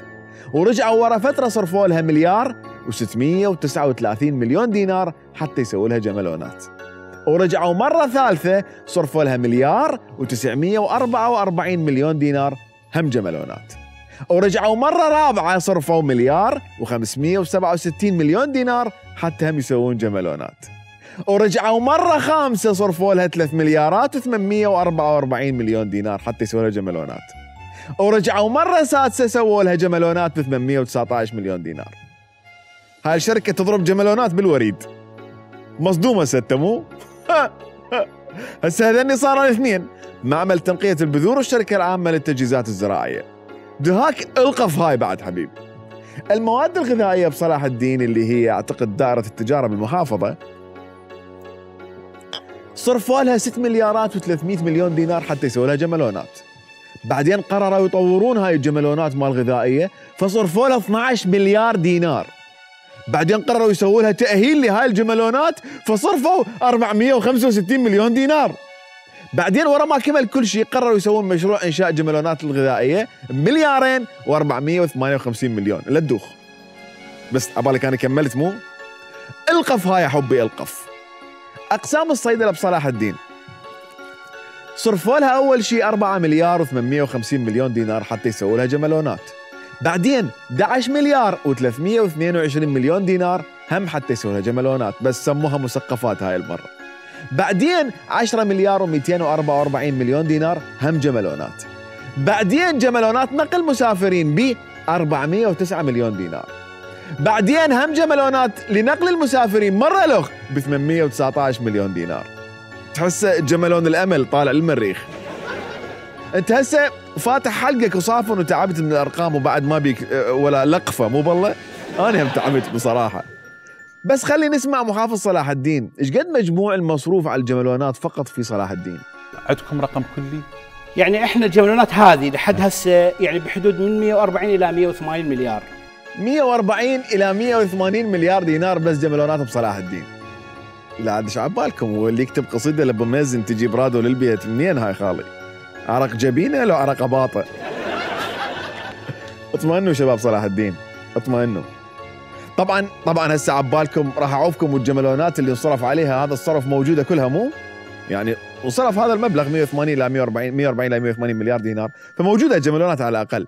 ورجعوا ورا فترة صرفوا لها 1,639 مليون دينار حتى يسوي لها جملونات. ورجعوا مرة ثالثة صرفوا لها 1,944 مليون دينار هم جملونات. ورجعوا مرة رابعة صرفوا 1,567 مليون دينار حتى هم يسوون جملونات. ورجعوا مرة خامسة صرفوا لها 3,844 مليون دينار حتى يسووا لها جملونات. ورجعوا مرة سادسة سووا لها جملونات ب 819 مليون دينار. هاي الشركة تضرب جملونات بالوريد. مصدومة ستة مو؟ هسه هذني صاروا الاثنين، معمل تنقية البذور والشركة العامة للتجهيزات الزراعية. دهاك القف هاي بعد حبيبي. المواد الغذائية بصلاح الدين اللي هي اعتقد دائرة التجارة بالمحافظة صرفوا لها 6,300 مليون دينار حتى يسووا لها جملونات. بعدين قرروا يطورون هاي الجملونات مال الغذائية فصرفوا لها 12 مليار دينار. بعدين قرروا يسووا لها تأهيل لهاي الجملونات فصرفوا 465 مليون دينار. بعدين ورا ما كمل كل شيء قرروا يسوون مشروع إنشاء جملونات الغذائية ب2,458 مليون. لا تدوخ بس عبالك أنا كملت مو؟ القف هاي يا حبي القف. أقسام الصيدلة بصلاح الدين صرفوا لها أول شيء 4,850 مليون دينار حتى يسووا لها جملونات. بعدين 11 مليار و322 مليون دينار هم حتى يسووا لها جملونات بس سموها مسقفات هاي المرة. بعدين 10 مليار و244 مليون دينار هم جملونات. بعدين جمالونات نقل مسافرين ب 409 مليون دينار. بعدين هم جمالونات لنقل المسافرين مرة الأخ ب 819 مليون دينار. تحس جمالون الأمل طالع للمريخ. أنت هسه فاتح حلقك وصافن وتعبت من الأرقام وبعد ما بيك ولا لقفة مو بالله؟ أنا هم تعبت بصراحة. بس خلي نسمع محافظ صلاح الدين، إيش قد مجموع المصروف على الجمالونات فقط في صلاح الدين؟ عندكم رقم كلي؟ يعني احنا الجمالونات هذه لحد هسه يعني بحدود من 140 إلى 180 مليار. 140 إلى 180 مليار دينار بس جمالونات بصلاح الدين. لا عاد ايش عبالكم، هو اللي يكتب قصيدة لأبو مازن تجيب رادو للبيت منين هاي خالي؟ عرق جبينه لو عرق باطه. اطمئنوا شباب صلاح الدين، اطمئنوا. طبعا هسه عبالكم راح اعوفكم والجمالونات اللي انصرف عليها هذا الصرف موجوده كلها مو؟ يعني وصرف هذا المبلغ 180 الى 140 الى 180 مليار دينار، فموجوده الجمالونات على الاقل.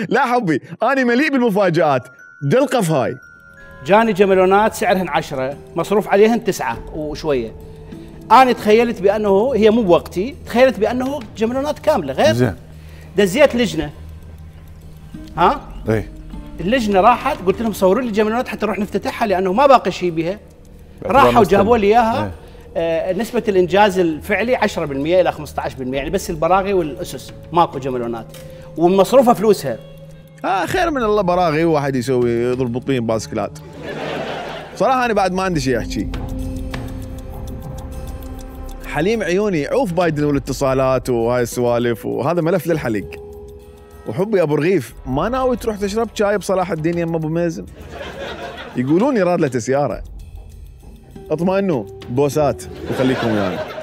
لا حبي، انا مليء بالمفاجآت، دلقف هاي. جاني جمالونات سعرهن 10 مصروف عليهن 9 وشويه. أنا تخيلت بأنه هي مو بوقتي، تخيلت بأنه جمالونات كاملة غير زين. دزيت لجنة. ها؟ ايه اللجنة راحت قلت لهم صوروا لي جمالونات حتى نروح نفتتحها لأنه ما باقي شيء بها. راحوا جابوا لي إياها. نسبة الإنجاز الفعلي 10% إلى 15%، يعني بس البراغي والأسس ماكو جمالونات. ومصروفها فلوسها. خير من الله براغي وواحد يسوي يضرب طين باسكلات. صراحة أنا بعد ما عندي شيء أحكي. حليم عيوني عوف بايدن والاتصالات وهاي السوالف وهذا ملف للحليق. وحبي ابو رغيف ما ناوي تروح تشرب شاي بصلاح الدين يم ابو مازن؟ يقولون يراد له سياره. اطمئنوا بوسات وخليكم ويانا.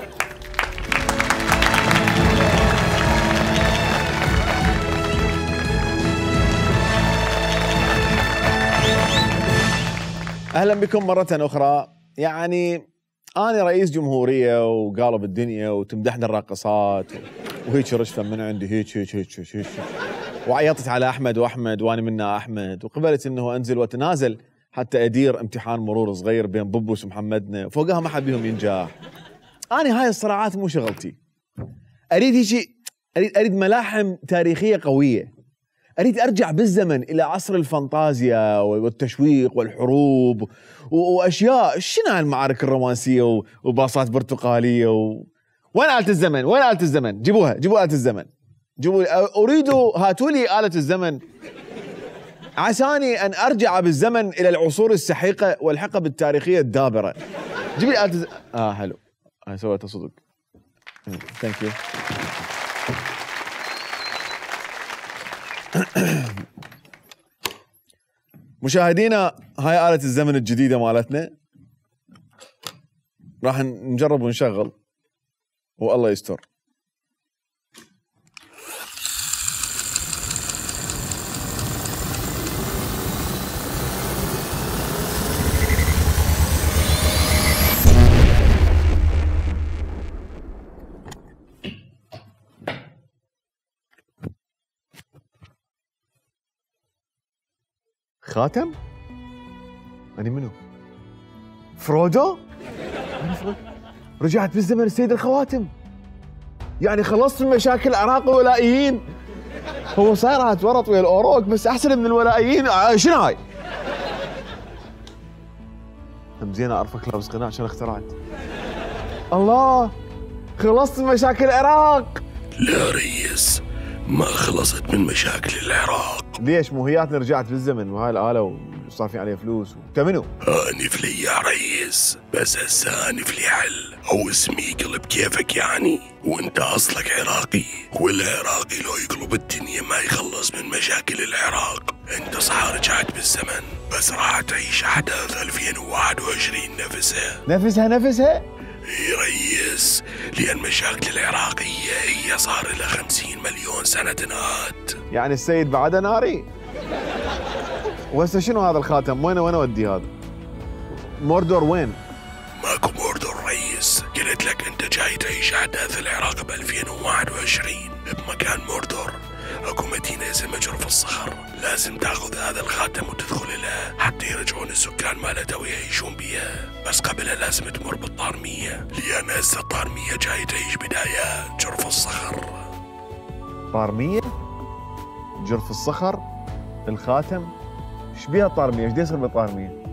اهلا بكم مرة اخرى. يعني أنا رئيس جمهورية وقالب الدنيا وتمدحنا الراقصات وهيك رشفة من عندي هيك وعيطت على أحمد وأحمد وأنا منا أحمد، وقبلت إنه أنزل وأتنازل حتى أدير امتحان مرور صغير بين بوبوس ومحمدنا، فوقها ما حد بيهم ينجح. أنا هاي الصراعات مو شغلتي. أريد هيك أريد ملاحم تاريخية قوية. أريد أرجع بالزمن إلى عصر الفانتازيا والتشويق والحروب وأشياء. شنو هالمعارك الرومانسية وباصات برتقالية وين آلة الزمن؟ وين آلة الزمن؟ جيبوا آلة الزمن. أريد هاتوا لي آلة الزمن عساني أن أرجع بالزمن إلى العصور السحيقة والحقب التاريخية الدابرة. جيب لي آلة الزمن. حلو. أنا سويتها صدق. ثانك يو. مشاهدينا هاي آلة الزمن الجديدة مالتنا، راح نجرب ونشغل والله يستر. خاتم؟ أنا منو؟ فرودو؟ أنا فرودو؟ رجعت بالزمن السيد الخواتم. يعني خلصت من مشاكل العراق والولائيين. هو صاير هاتورط ويا الأوروك بس أحسن من الولائيين. شنو هاي؟ هم زين أعرفك لابس قناع عشان اخترعت. الله خلصت من مشاكل العراق. لا ريس ما خلصت من مشاكل العراق. ليش؟ مو هياتنا رجعت بالزمن وهاي الآلة وصار عليها فلوس. انت منو؟ انف لي يا ريس، بس هسه انف لي حل او اسمي قلب كيفك يعني، وانت اصلك عراقي، والعراقي لو يقلب الدنيا ما يخلص من مشاكل العراق. انت صح رجعت بالزمن بس راح تعيش احداث 2021 نفسها؟ اي ريس، لان مشاكل العراقية هي صار لها 50 مليون سنة تنهات. يعني السيد بعده ناري؟ وهسه شنو هذا الخاتم؟ وين اودي هذا؟ موردور وين؟ ماكو موردور ريس، قلت لك انت جاي تعيش احداث العراق ب 2021 بمكان موردور. اكو مدينة اسمها جرف الصخر، لازم تاخذ هذا الخاتم وتدخل لها حتى يرجعون السكان مالتها ويعيشون بيها، بس قبلها لازم تمر بالطارمية، لان هسه الطارمية جاي تعيش بدايات جرف الصخر. الطارميه، جرف الصخر، الخاتم، ايش بيها الطارميه؟ ايش يصير بالطارميه؟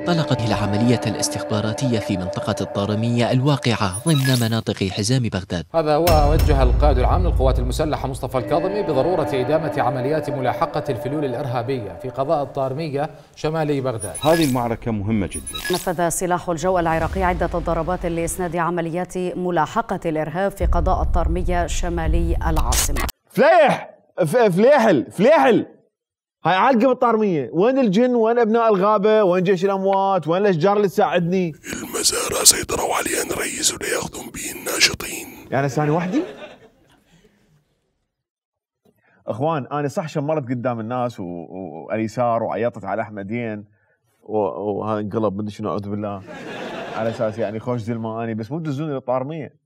طلقت العملية الاستخباراتية في منطقة الطارمية الواقعة ضمن مناطق حزام بغداد. هذا ووجه القائد العام للقوات المسلحة مصطفى الكاظمي بضرورة إدامة عمليات ملاحقة الفلول الإرهابية في قضاء الطارمية شمالي بغداد. هذه المعركة مهمة جدا. نفذ سلاح الجو العراقي عدة ضربات لإسناد عمليات ملاحقة الإرهاب في قضاء الطارمية شمالي العاصمة. فليحل هاي عالقة بالطارمية، وين الجن؟ وين ابناء الغابة؟ وين جيش الاموات؟ وين الاشجار اللي تساعدني؟ المزارع سيطروا عليها نريز ولياخذون به الناشطين. يعني ثاني وحدي؟ اخوان انا صح شمرت قدام الناس واليسار وعيطت على احمدين وهذا انقلب بدي شنو اعوذ بالله على اساس يعني خوش زلمه اني، بس مو تدزوني للطارمية.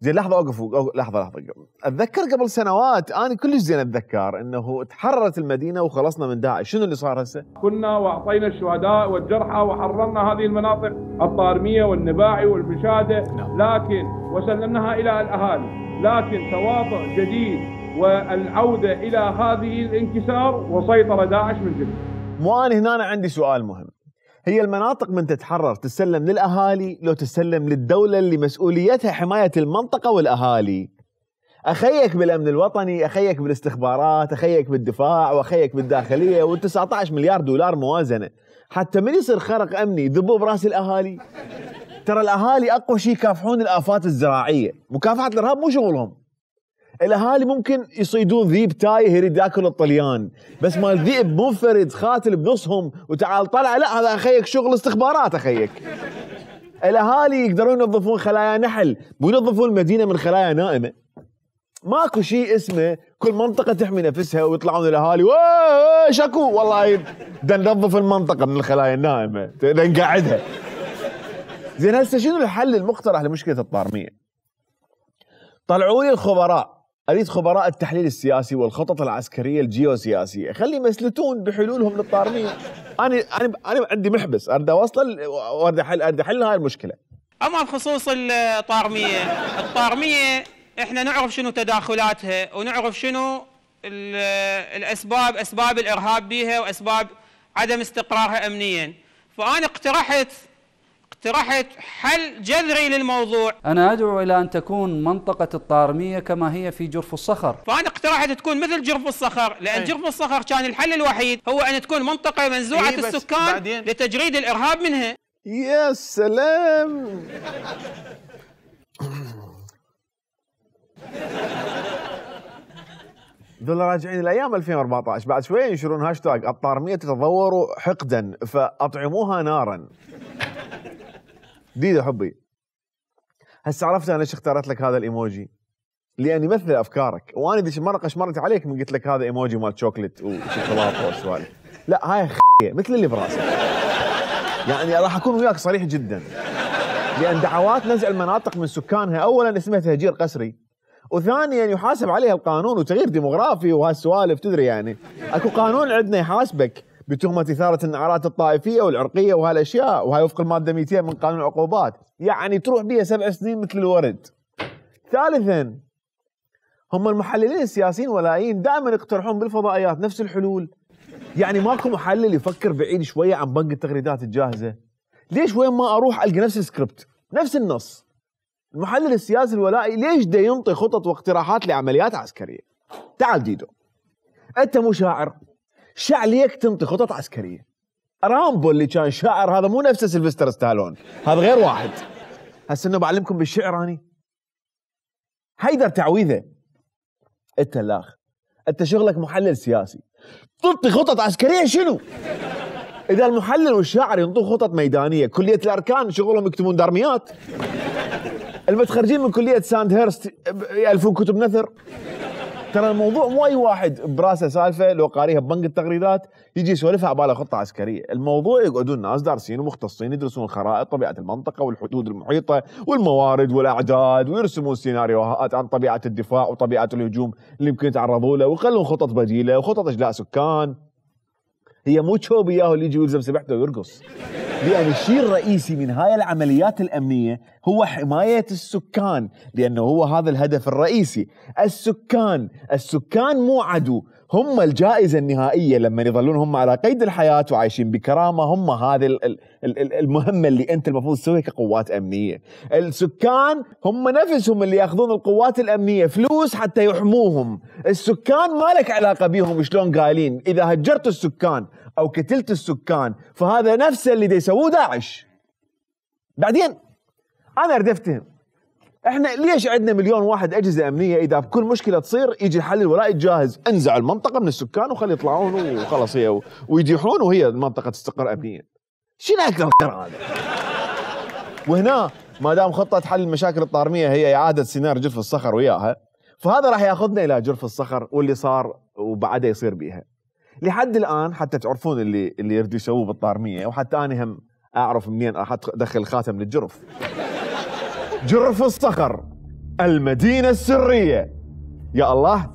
زين لحظة اوقفوا، لحظة اتذكر قبل سنوات انا كلش زين اتذكر انه تحررت المدينة وخلصنا من داعش، شنو اللي صار هسه؟ كنا واعطينا الشهداء والجرحى وحررنا هذه المناطق الطارمية والنباعي والبشادة، لكن وسلمناها الى الاهالي، لكن تواطؤ جديد والعودة الى هذه الانكسار وسيطرة داعش من جديد. مو انا هنا عندي سؤال مهم، هي المناطق من تتحرر تسلم للأهالي لو تسلم للدولة اللي مسؤوليتها حماية المنطقة والأهالي؟ أخيك بالأمن الوطني، أخيك بالاستخبارات، أخيك بالدفاع، وأخيك بالداخلية، و19 مليار دولار موازنة، حتى من يصير خرق أمني يذبوا براس الأهالي؟ ترى الأهالي أقوى شيء يكافحون الآفات الزراعية، مكافحة الإرهاب مو شغلهم. الاهالي ممكن يصيدون ذيب تايه يريد ياكل الطليان، بس مال ذئب منفرد قاتل بنصهم وتعال طلع، لا هذا اخيك شغل استخبارات اخيك. الاهالي يقدرون ينظفون خلايا نحل، مو ينظفون المدينه من خلايا نائمه. ماكو شيء اسمه كل منطقه تحمي نفسها ويطلعون الاهالي شكو والله بدنا ننظف المنطقه من الخلايا النائمه، بدنا نقعدها. زين هسه شنو الحل المقترح لمشكله الطارميه؟ طلعوا لي الخبراء، اريد خبراء التحليل السياسي والخطط العسكريه الجيوسياسيه، خلي يمسلتون بحلولهم للطارميه. انا عندي محبس اريد اوصل واريد احل هاي المشكله. اما بخصوص الطارميه احنا نعرف شنو تداخلاتها ونعرف شنو اسباب الارهاب بيها واسباب عدم استقرارها امنيا، فانا اقترحت حل جذري للموضوع. أنا أدعو إلى أن تكون منطقة الطارمية كما هي في جرف الصخر. فأنا اقترحت تكون مثل جرف الصخر، لأن جرف الصخر كان الحل الوحيد هو أن تكون منطقة منزوعة السكان لتجريد الإرهاب منها. يا سلام. ذولا راجعين الايام 2014، بعد شويه ينشرون هاشتاج الطارميه تتضور حقدا فاطعموها نارا. جديد حبي. هسه عرفت انا ليش اختارت لك هذا الايموجي، لان يمثل افكارك، وانا ذيك المره قشمرت عليك من قلت لك هذا ايموجي مال شوكليت وشوكولاته والسوالف. لا هاي مثل اللي براسك. يعني راح اكون وياك صريح جدا، لان دعوات نزع المناطق من سكانها اولا اسمها تهجير قسري، وثانيا يحاسب عليها القانون وتغيير ديموغرافي وهالسوالف، تدري يعني اكو قانون عندنا يحاسبك بتهمة إثارة النعرات الطائفية والعرقية وهالأشياء، وهي وفق المادة 200 من قانون العقوبات، يعني تروح بيها 7 سنين مثل الورد. ثالثا هم المحللين السياسيين ولايين دائما يقترحون بالفضائيات نفس الحلول، يعني ماكو محلل يفكر بعيد شوية عن بنك التغريدات الجاهزة. ليش وين ما أروح ألقى نفس السكريبت نفس النص؟ المحلل السياسي الولائي ليش دا ينطي خطط واقتراحات لعمليات عسكرية؟ تعال ديدو، أنت مو شاعر، ليك تنطي خطط عسكريه. رامبو اللي كان شاعر هذا مو نفس سيلفستر ستالون، هذا غير واحد. هسه انه بعلمكم بالشعر اني. حيدر تعويذه. انت الاخ، انت شغلك محلل سياسي، تنطي خطط عسكريه شنو؟ اذا المحلل والشاعر ينطون خطط ميدانيه، كليه الاركان شغلهم يكتبون دارميات. المتخرجين من كليه ساند هيرست يالفون كتب نثر. ترى الموضوع مو اي واحد براسه سالفه لو قاريها ببنك التغريدات يجي يسولفها عباله خطه عسكريه، الموضوع يقعدون ناس دارسين ومختصين يدرسون الخرائط، طبيعه المنطقه والحدود المحيطه والموارد والاعداد، ويرسمون سيناريوهات عن طبيعه الدفاع وطبيعه الهجوم اللي يمكن يتعرضوا له، ويخلون خطط بديله وخطط اجلاء سكان. هي مو تشوبي ياهو اللي يجي يلزم سبحته ويرقص. لأن الشيء الرئيسي من هاي العمليات الأمنية هو حماية السكان، لأنه هو هذا الهدف الرئيسي. السكان مو عدو، هم الجائزة النهائية لما يظلون هم على قيد الحياة وعايشين بكرامة. هم هذه المهمة اللي أنت المفروض تسويها كقوات أمنية. السكان هم نفسهم اللي يأخذون القوات الأمنية فلوس حتى يحموهم. السكان ما لك علاقة بيهم شلون قايلين. إذا هجرت السكان أو قتلت السكان فهذا نفس اللي يسووه داعش. بعدين أنا أريد أفتهم احنا ليش عندنا مليون واحد اجهزه امنيه اذا بكل مشكله تصير يجي الحل الولائي الجاهز، انزع المنطقه من السكان وخلي يطلعون وخلاص هي ويديحون وهي المنطقه تستقر امنيا. شنو اكثر هذا؟ وهنا ما دام خطه حل المشاكل الطارميه هي اعاده سيناريو جرف الصخر وياها، فهذا راح ياخذنا الى جرف الصخر واللي صار وبعده يصير بيها. لحد الان حتى تعرفون اللي يريدوا يسووه بالطارميه، وحتى انا هم اعرف منين راح ادخل الخاتم للجرف. جرف الصخر المدينة السرية. يا الله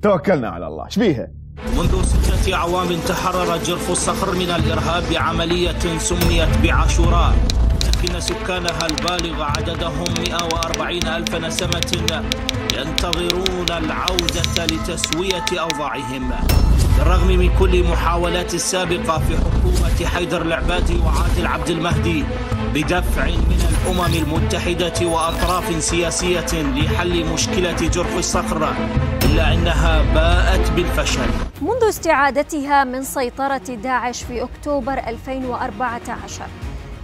توكلنا على الله. شبيها؟ منذ 6 أعوام تحرر جرف الصخر من الإرهاب بعملية سميت بعاشوراء، لكن سكانها البالغ عددهم 140,000 نسمة ينتظرون العودة لتسوية أوضاعهم. بالرغم من كل محاولات السابقة في حكومة حيدر العبادي وعادل عبد المهدي بدفع من الأمم المتحدة وأطراف سياسية لحل مشكلة جرف الصخر، إلا أنها باءت بالفشل. منذ استعادتها من سيطرة داعش في أكتوبر 2014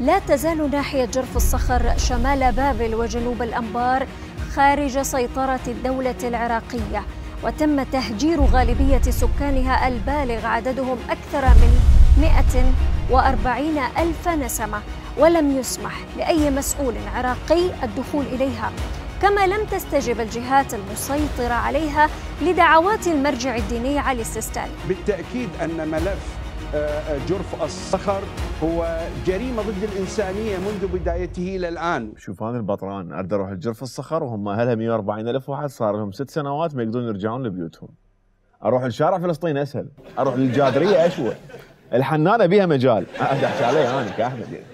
لا تزال ناحية جرف الصخر شمال بابل وجنوب الأنبار خارج سيطرة الدولة العراقية، وتم تهجير غالبية سكانها البالغ عددهم أكثر من 140,000 نسمة، ولم يسمح لأي مسؤول عراقي الدخول إليها، كما لم تستجب الجهات المسيطرة عليها لدعوات المرجع الديني علي السيستاني. بالتأكيد أن ملف جرف الصخر هو جريمة ضد الإنسانية منذ بدايته إلى الآن. شوف أنا البطران أريد أروح لجرف الصخر وهم أهلها 140,000 واحد صار لهم 6 سنوات ما يقدرون يرجعون لبيوتهم. أروح لشارع فلسطين أسهل، أروح للجادرية أشوى، الحنانة بيها مجال. أحكي عليه أنا كأحمد يعني.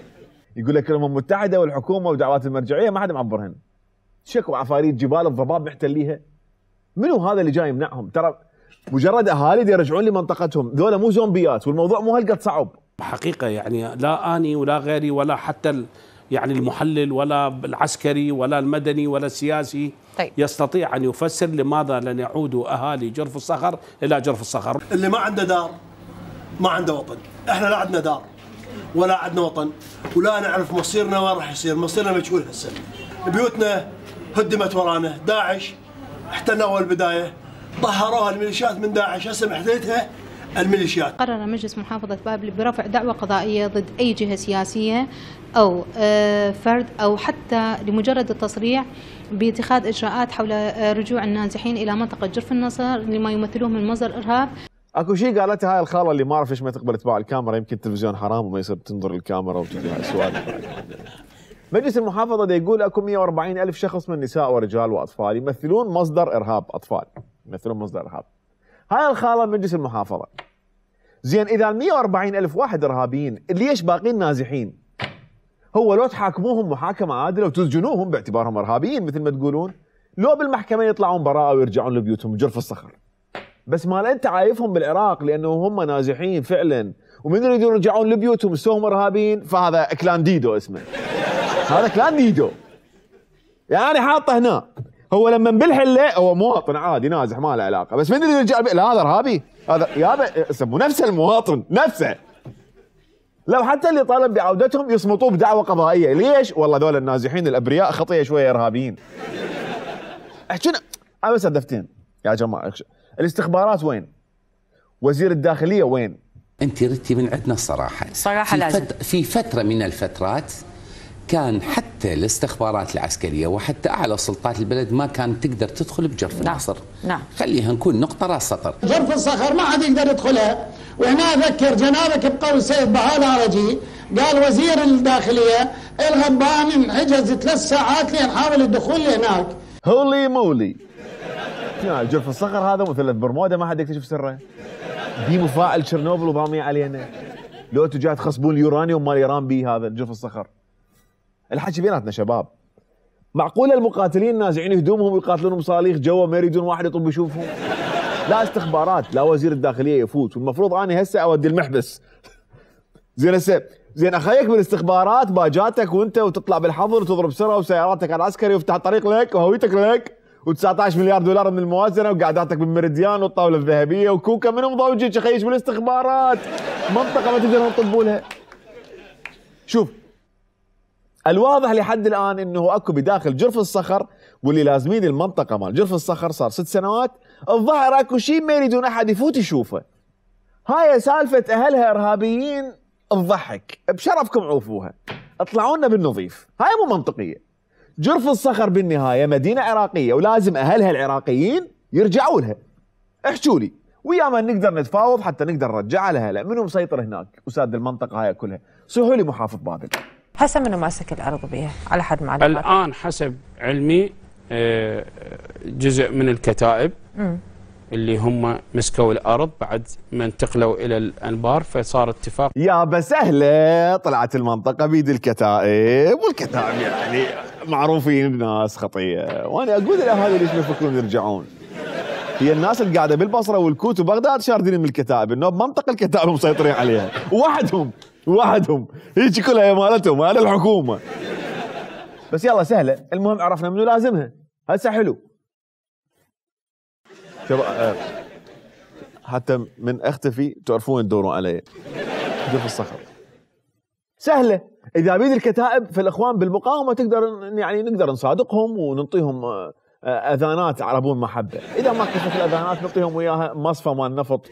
يقول لك الأمم المتحدة والحكومة ودعوات المرجعية ما حد معبرهن. شكو عفاريت جبال الضباب محتليها. منو هذا اللي جاي يمنعهم؟ ترى مجرد اهالي يرجعون لمنطقتهم، ذولا مو زومبيات، والموضوع مو هالقد صعب. حقيقه يعني لا اني ولا غيري ولا حتى يعني المحلل ولا العسكري ولا المدني ولا السياسي يستطيع ان يفسر لماذا لن يعودوا اهالي جرف الصخر الى جرف الصخر. اللي ما عنده دار ما عنده وطن، احنا لا عندنا دار ولا عندنا وطن ولا نعرف مصيرنا وين راح يصير، مصيرنا مجهول هسه. بيوتنا هدمت ورانا، داعش احتلنا اول بدايه، طهروها الميليشيات من داعش، هسه محتلتها الميليشيات. قرر مجلس محافظة بابل برفع دعوى قضائية ضد أي جهة سياسية أو فرد أو حتى لمجرد التصريح باتخاذ إجراءات حول رجوع النازحين إلى منطقة جرف النصر لما يمثلوه من مصدر إرهاب. اكو شيء قالتها هاي الخاله اللي ما اعرف ليش ما تقبل تباع الكاميرا، يمكن التلفزيون حرام وما يصير تنظر الكاميرا وتجي هاي السؤال. مجلس المحافظة دا يقول اكو 140,000 شخص من نساء ورجال واطفال يمثلون مصدر ارهاب، اطفال يمثلون مصدر ارهاب. هاي الخالة مجلس المحافظة. زين اذا 140,000 واحد ارهابيين ليش باقين نازحين؟ هو لو تحاكموهم محاكمة عادلة وتسجنوهم باعتبارهم ارهابيين مثل ما تقولون، لو بالمحكمة يطلعون براءة ويرجعون لبيوتهم جرف الصخر. بس مال انت عايفهم بالعراق لانه هم نازحين فعلا ومن يريدون يرجعون لبيوتهم سوهم ارهابيين، فهذا كلان ديدو اسمه. هذا كلان ديدو. يعني حاطه هنا. هو لما بالحله هو مواطن عادي نازح ما له علاقه، بس من اللي يرجع لا هذا ارهابي، هذا يابا يسموه نفس المواطن نفسه. لو حتى اللي طالب بعودتهم يصمتوه بدعوى قضائيه، ليش؟ والله ذول النازحين الابرياء خطيه شويه ارهابيين. احكينا انا بس هدفتين يا جماعه، الاستخبارات وين؟ وزير الداخليه وين؟ انت ردتي من عندنا الصراحه. صراحه لازم. في فتره من الفترات كان حتى الاستخبارات العسكرية وحتى أعلى سلطات البلد ما كانت تقدر تدخل بجرف النصر. نعم. خليها نكون نقطة راس سطر. جرف الصخر ما حد يقدر يدخلها، وهنا أذكر جنابك بقول السيد بهاء العرجي قال وزير الداخلية الغبان انحجز 3 ساعات لنحاول الدخول لهناك. هولي مولي. جرف الصخر هذا مثلث برمودا ما حد يكتشف سره. دي مفاعل تشيرنوبل وضامي علينا. لو انتوا جاي تخصبون اليورانيوم مال ايران بيه هذا جرف الصخر. الحكي بيناتنا شباب. معقوله المقاتلين نازعين هدومهم ويقاتلون بصواريخ جوا ما يريدون واحد يطب يشوفهم؟ لا استخبارات، لا وزير الداخليه يفوت، والمفروض اني هسه اودي المحبس. زين هسه زين اخيك بالاستخبارات باجاتك وانت وتطلع بالحظر وتضرب سرعه وسياراتك على العسكري ويفتح الطريق لك وهويتك لك و19 مليار دولار من الموازنه وقعداتك بالميريديان والطاوله الذهبيه وكوكا منهم ضوجك خيش بالاستخبارات. منطقه ما تقدرون تطبوا لها. شوف الواضح لحد الان انه اكو بداخل جرف الصخر واللي لازمين المنطقه مال جرف الصخر صار 6 سنوات، الظاهر اكو شيء ما يريدون احد يفوت يشوفه. هاي سالفه اهلها ارهابيين تضحك، بشرفكم عوفوها، اطلعوا لنا بالنظيف، هاي مو منطقيه. جرف الصخر بالنهايه مدينه عراقيه ولازم اهلها العراقيين يرجعوا لها. احكوا لي ويا من نقدر نتفاوض حتى نقدر نرجعها لها، لا منو مسيطر هناك وساد المنطقه هاي كلها؟ صيحوا لي محافظ بابل. هسه منو ماسك الارض بيها على حد معلوماتك؟ الان حسب علمي جزء من الكتائب اللي هم مسكوا الارض بعد ما انتقلوا الى الانبار، فصار اتفاق. يا بسهله طلعت المنطقه بيد الكتائب، والكتائب يعني معروفين الناس خطيه، وانا اقول الاهالي ليش ما يفكرون يرجعون؟ هي الناس اللي قاعده بالبصره والكوت وبغداد شاردين من الكتائب، انه بمنطقه الكتائب مسيطرين عليها، وحدهم هيك كلها هي مالتهم، هذا الحكومه. بس يلا سهله، المهم عرفنا منو لازمها، هسه حلو. شباب حتى من اختفي تعرفون تدورون علي. جرف الصخر سهله، اذا بيد الكتائب فالاخوان بالمقاومه نقدر نصادقهم ونعطيهم اذانات عربون محبه، اذا ما كشفت الاذانات نعطيهم وياها مصفى مال نفط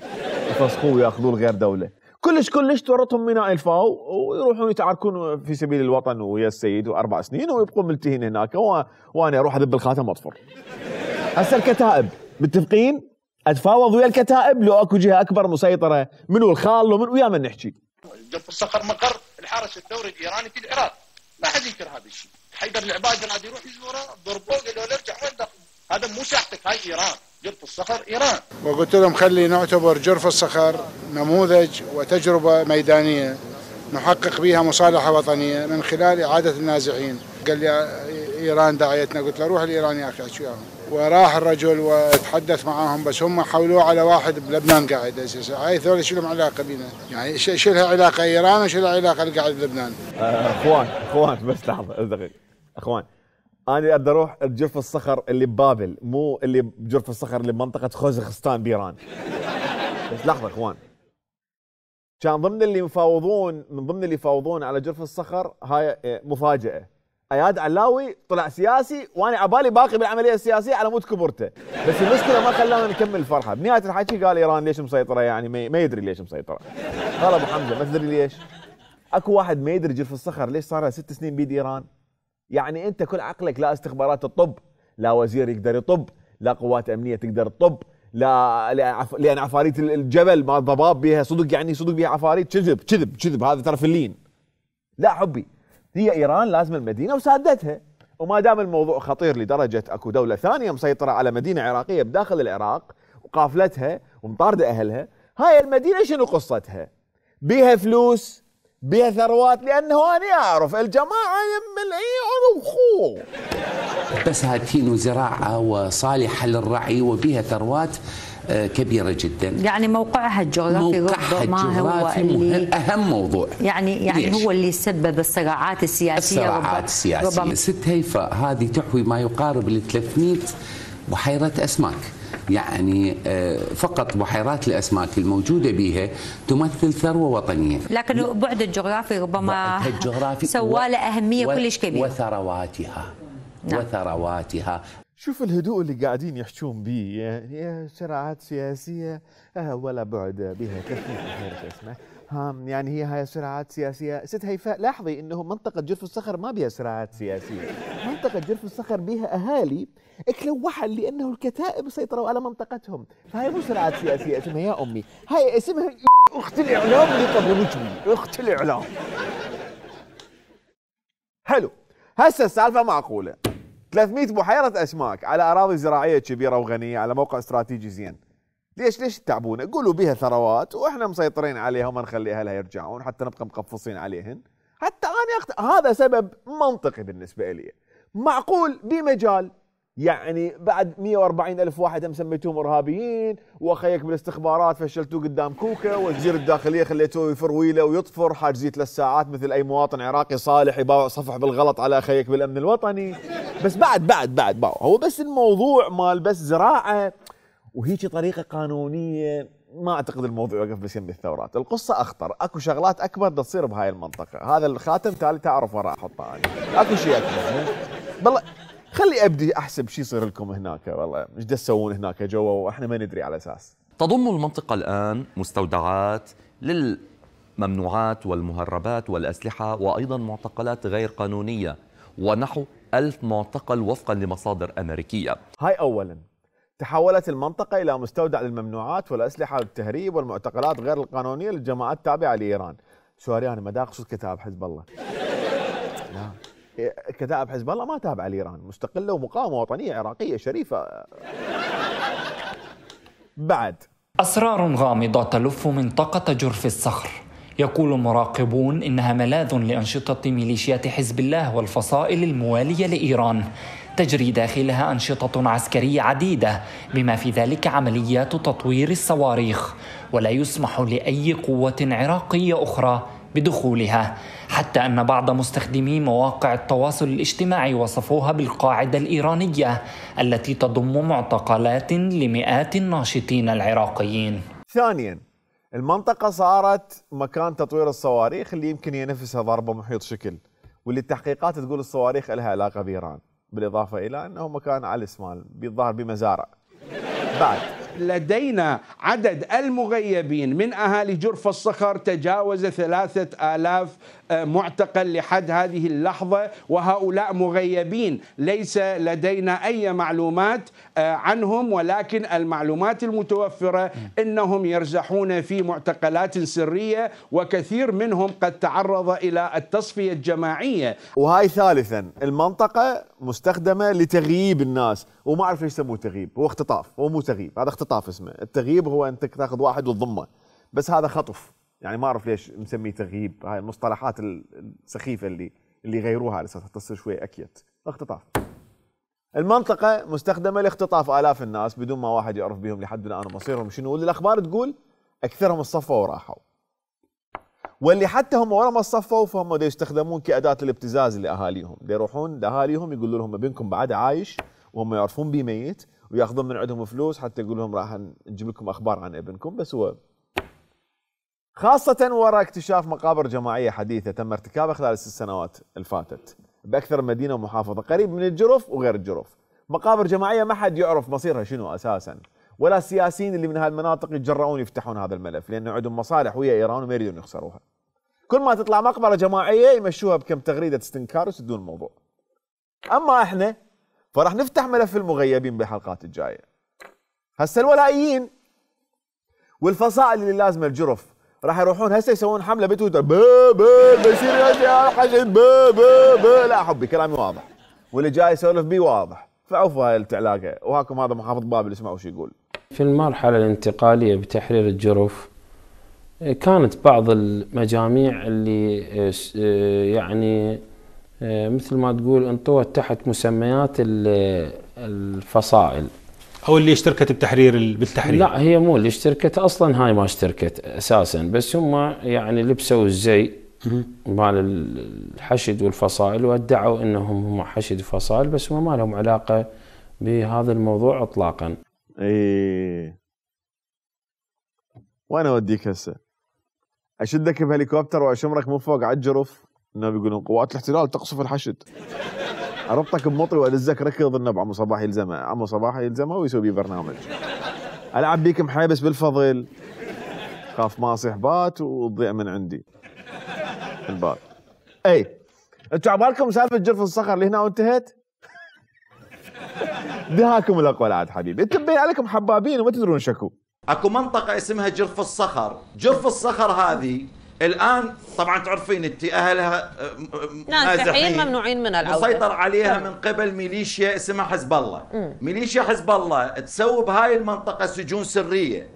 يفسخوه وياخذوه لغير دوله. كلش تورطهم ميناء الفاو ويروحون يتعاركون في سبيل الوطن ويا السيد و4 سنين ويبقون ملتهين هناك، وانا اروح اذب الخاتم واطفر. هسه الكتائب متفقين؟ اتفاوض ويا الكتائب لو اكو جهه اكبر مسيطره، منو الخال ومن ويا من نحكي. جرف الصخر مقر الحرس الثوري الايراني في العراق، ما حد ينكر هذا الشيء. حيدر العبادي راد يروح يزوره ضربوه قالوا له ارجع وين دخل؟ هذا مو ساحتك، هاي ايران، جرف الصخر ايران. وقلت لهم خلي نعتبر جرف الصخر نموذج وتجربه ميدانيه نحقق بها مصالحه وطنيه من خلال اعاده النازحين. قال لي ايران داعيتنا، قلت له روح لايران يا اخي احكي وياهم. وراح الرجل وتحدث معاهم، بس هم حولوه على واحد بلبنان قاعد اساسا. هاي ذول شو لهم علاقه بينا؟ يعني شو لها علاقه ايران وشو لها علاقه اللي قاعد بلبنان؟ اخوان بس لحظه دقيقه. اخوان انا اريد اروح جرف الصخر اللي ببابل، مو اللي بجرف الصخر اللي بمنطقه خوزغستان بايران. بس لحظه اخوان، كان من ضمن اللي يفاوضون على جرف الصخر هاي مفاجاه. اياد علاوي طلع سياسي وانا عبالي باقي بالعمليه السياسيه على مود كبرته، بس المشكله ما خلانا نكمل الفرحه. بنهايه الحكي قال ايران ليش مسيطره، يعني ما يدري ليش مسيطره. قال ابو حمزه ما تدري ليش؟ اكو واحد ما يدري جرف الصخر ليش صار 6 سنين بيد ايران؟ يعني انت كل عقلك لا استخبارات تطب، لا وزير يقدر يطب، لا قوات امنيه تقدر تطب، لان عفاريت الجبل ما الضباب بيها صدق، يعني صدق بيها عفاريت. كذب هذا ترى فلين. لا حبي، هي ايران لازم المدينه وسادتها، وما دام الموضوع خطير لدرجه اكو دوله ثانيه مسيطره على مدينه عراقيه بداخل العراق وقافلتها ومطارده اهلها، هاي المدينه شنو قصتها؟ بيها فلوس، بيها ثروات، لانه انا اعرف الجماعه ملعين وخو بساتين وزراعه وصالحه للرعي وبها ثروات كبيرة جدا. يعني موقعها الجغرافي ما هو اللي أهم موضوع، يعني هو اللي سبب الصراعات السياسية. ربما ست هيفا هذه تحوي ما يقارب ل 300 بحيرة أسماك، يعني فقط بحيرات الأسماك الموجودة بها تمثل ثروة وطنية. لكن بعد الجغرافي ربما سوى له أهمية كلش كبيرة. وثرواتها. شوف الهدوء اللي قاعدين يحجون به، يعني صراعات سياسيه ولا بعد بها تفكير اسمه يعني هي هاي صراعات سياسيه. ست هيفاء لاحظي انه منطقه جرف الصخر ما بها صراعات سياسيه، منطقه جرف الصخر بها اهالي اكلوا لانه الكتائب سيطروا على منطقتهم، فهي مو صراعات سياسيه اسمها يا امي، هاي اسمها اخت الاعلام اللي قبلوك بيه، اخت الاعلام. حلو، هسه السالفه معقوله. 300 بحيرة أسماك على أراضي زراعية كبيرة وغنية على موقع استراتيجي زين. ليش تتعبونا؟ قولوا بيها ثروات واحنا مسيطرين عليها وما نخلي اهلها يرجعون حتى نبقى مقفصين عليهن. حتى انا هذا سبب منطقي بالنسبه لي. معقول بمجال يعني بعد 140,000 واحد هم سميتوهم ارهابيين، واخيك بالاستخبارات فشلتوه قدام كوكا، وزير الداخليه خليتوه يفرويله ويطفر حاجزيه 3 ساعات مثل اي مواطن عراقي صالح يباوع صفح بالغلط على اخيك بالامن الوطني. بس بعد هو بس الموضوع مال بس زراعه وهيك طريقه قانونيه. ما اعتقد الموضوع يوقف بس يم الثورات، القصه اخطر، اكو شغلات اكبر بدها تصير بهاي المنطقه. هذا الخاتم تالي تعرف وراء احطه انا، اكو شيء اكبر. بالله خلي ابدي احسب شو يصير لكم هناك، والله ايش تسوون هناك جوا واحنا ما ندري على اساس. تضم المنطقه الان مستودعات للممنوعات والمهربات والاسلحه، وايضا معتقلات غير قانونيه، ونحو 1000 معتقل وفقا لمصادر امريكيه. هاي اولا. تحولت المنطقة إلى مستودع للممنوعات والأسلحة والتهريب والمعتقلات غير القانونية للجماعات التابعة لإيران. سوري أنا ما أقصد كتائب حزب الله. لا، كتائب حزب الله ما تابعة لإيران، مستقلة ومقاومة وطنية عراقية شريفة. بعد أسرار غامضة تلف منطقة جرف الصخر. يقول مراقبون إنها ملاذ لأنشطة ميليشيات حزب الله والفصائل الموالية لإيران. تجري داخلها أنشطة عسكرية عديدة بما في ذلك عمليات تطوير الصواريخ، ولا يسمح لأي قوة عراقية أخرى بدخولها، حتى أن بعض مستخدمي مواقع التواصل الاجتماعي وصفوها بالقاعدة الإيرانية التي تضم معتقلات لمئات الناشطين العراقيين. ثانياً، المنطقة صارت مكان تطوير الصواريخ اللي يمكن ينفسها ضربة محيط شكل، واللي التحقيقات تقول الصواريخ لها علاقة بإيران، بالإضافة إلى أنه مكان علس مال بالظاهر بمزارع. بعد لدينا عدد المغيبين من أهالي جرف الصخر تجاوز 3000 معتقل لحد هذه اللحظة، وهؤلاء مغيبين ليس لدينا أي معلومات عنهم، ولكن المعلومات المتوفرة أنهم يرزحون في معتقلات سرية، وكثير منهم قد تعرض إلى التصفية الجماعية. وهاي ثالثا، المنطقة مستخدمة لتغييب الناس، وما أعرف ليش يسموه تغييب، هو اختطاف، هو مو تغييب، هذا اختطاف اسمه. التغييب هو أنت تاخذ واحد وتضمه، بس هذا خطف، يعني ما أعرف ليش مسميه تغييب. هاي المصطلحات السخيفة اللي يغيروها على أساس تصير شوي أكيت. اختطاف. المنطقة مستخدمة لاختطاف آلاف الناس بدون ما واحد يعرف بهم لحد الآن مصيرهم شنو، واللي الأخبار تقول أكثرهم الصفوا وراحوا، واللي حتى هم ورا ما الصفوا فهم دا يستخدمون كأداة الابتزاز لأهاليهم، دا يروحون لأهاليهم يقولوا لهم ابنكم بعد عايش وهم يعرفون بيه ميت، وياخذون من عندهم فلوس حتى يقول لهم راح نجيب لكم أخبار عن ابنكم. بس هو خاصة وراء اكتشاف مقابر جماعية حديثة تم ارتكابها خلال ال6 سنوات الفاتت بأكثر من مدينة ومحافظة قريب من الجرف وغير الجرف. مقابر جماعية ما حد يعرف مصيرها شنو أساسا، ولا السياسيين اللي من هالمناطق يتجرؤون يفتحون هذا الملف، لأنه عندهم مصالح ويا إيران وما يريدون يخسروها. كل ما تطلع مقبرة جماعية يمشوها بكم تغريدة استنكار ويسدون الموضوع. أما إحنا فراح نفتح ملف المغيبين بالحلقات الجاية. هسه الولائيين والفصائل اللي لازمة الجرف راح يروحون هسه يسوون حملة بتويتر بشير يا حشد لا حبي كلامي واضح، واللي جاي يسولف بيه واضح، فعوفوا هاي التعلاقة. وهاكم هذا محافظ بابل اسمعوا شو يقول. في المرحلة الانتقالية بتحرير الجرف كانت بعض المجاميع اللي يعني مثل ما تقول انطوت تحت مسميات الفصائل، او اللي اشتركت بالتحرير. لا هي مو اللي اشتركت اصلا، هاي ما اشتركت اساسا، بس هم يعني لبسوا الزي مال الحشد والفصائل وادعوا انهم هم حشد وفصائل، بس هم ما لهم علاقه بهذا الموضوع اطلاقا. ايه وانا اوديك هسه اشدك بهليكوبتر واشمرك من فوق على الجرف، انه بيقولون قوات الاحتلال تقصف الحشد، اربطك بمطري وادزك ركض النب عمو صباح يلزمه، عمو صباح يلزمه ويسوي بيه برنامج. العب بيك محيبس بالفضل، خاف ما اصيح بات وتضيع من عندي البات. اي انتوا عبالكم سالفه جرف الصخر اللي هنا وانتهت؟ دهاكم الاقوال عاد حبيبي، انتم مبين عليكم حبابين وما تدرون شكو. اكو منطقه اسمها جرف الصخر، جرف الصخر هذه الان طبعا تعرفين انت اهلها نازحين ممنوعين من العوده، مسيطر عليها من قبل ميليشيا اسمها حزب الله. ميليشيا حزب الله تسوي بهاي المنطقه سجون سريه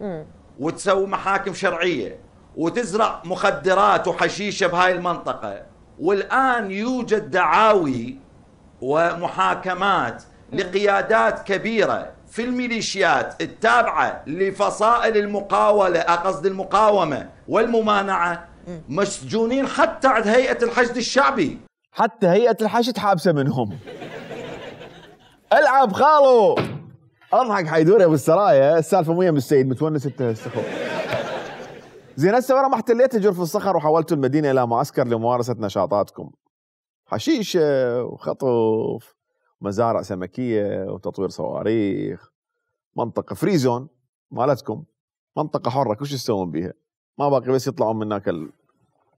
وتسوي محاكم شرعيه وتزرع مخدرات وحشيشه بهاي المنطقه، والان يوجد دعاوي ومحاكمات لقيادات كبيره في الميليشيات التابعه لفصائل المقاوله، قصد المقاومه والممانعه، مسجونين حتى عند هيئه الحشد الشعبي. حتى هيئه الحشد حابسه منهم. العب خالو. اضحك حيدور يا ابو السرايا، السالفه مو يم السيد متونس انت استخو. زين هسه ورا ما احتليت جرف الصخر وحولتوا المدينه الى معسكر لممارسه نشاطاتكم. حشيش وخطف مزارع سمكيه وتطوير صواريخ، منطقه فري زون مالتكم، منطقه حره كل شيء تسوون بيها، ما باقي بس يطلعون من هناك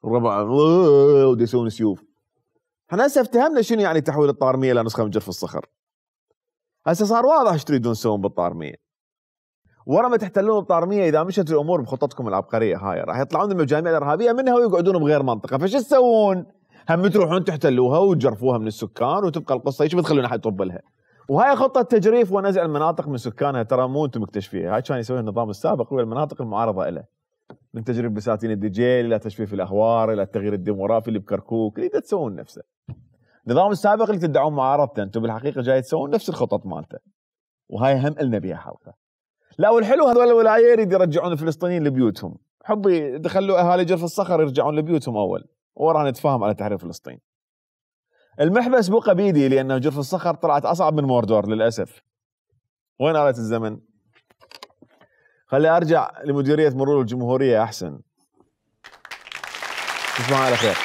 الربع وديسون سيوف. احنا هسه افتهمنا شنو يعني تحويل الطارميه الى نسخه من جرف الصخر. هسه صار واضح ايش تريدون تسوون بالطارميه. ورا ما تحتلون الطارميه اذا مشت الامور بخططكم العبقريه هاي راح يطلعون المجاميع الارهابيه منها ويقعدون بغير منطقه، فش تسوون؟ هم تروحون تحتلوها وتجرفوها من السكان وتبقى القصه هيك بتخلون احد يطب لها. وهاي خطه تجريف ونزع المناطق من سكانها، ترى مو انتم مكتشفيها، هاي كان يسويها النظام السابق والمناطق المعارضه له. من تجريف بساتين الدجيل الى تجفيف الاهوار الى التغيير الديموغرافي اللي بكركوك، اللي تسوون نفسه. النظام السابق اللي تدعون معارضته انتم بالحقيقه جاي تسوون نفس الخطط مالته. وهاي هم قلنا بيها حلقه. لا والحلو هذول الولايه يريد يرجعون الفلسطينيين لبيوتهم، حبي دخلوا اهالي جرف الصخر يرجعون لبيوتهم اول، وراها نتفاهم على تحرير فلسطين. المحبس بقى بيدي لانه جرف الصخر طلعت اصعب من موردور للاسف. وين آلة الزمن؟ خلي ارجع لمديريه مرور الجمهوريه احسن. تصبحون على خير.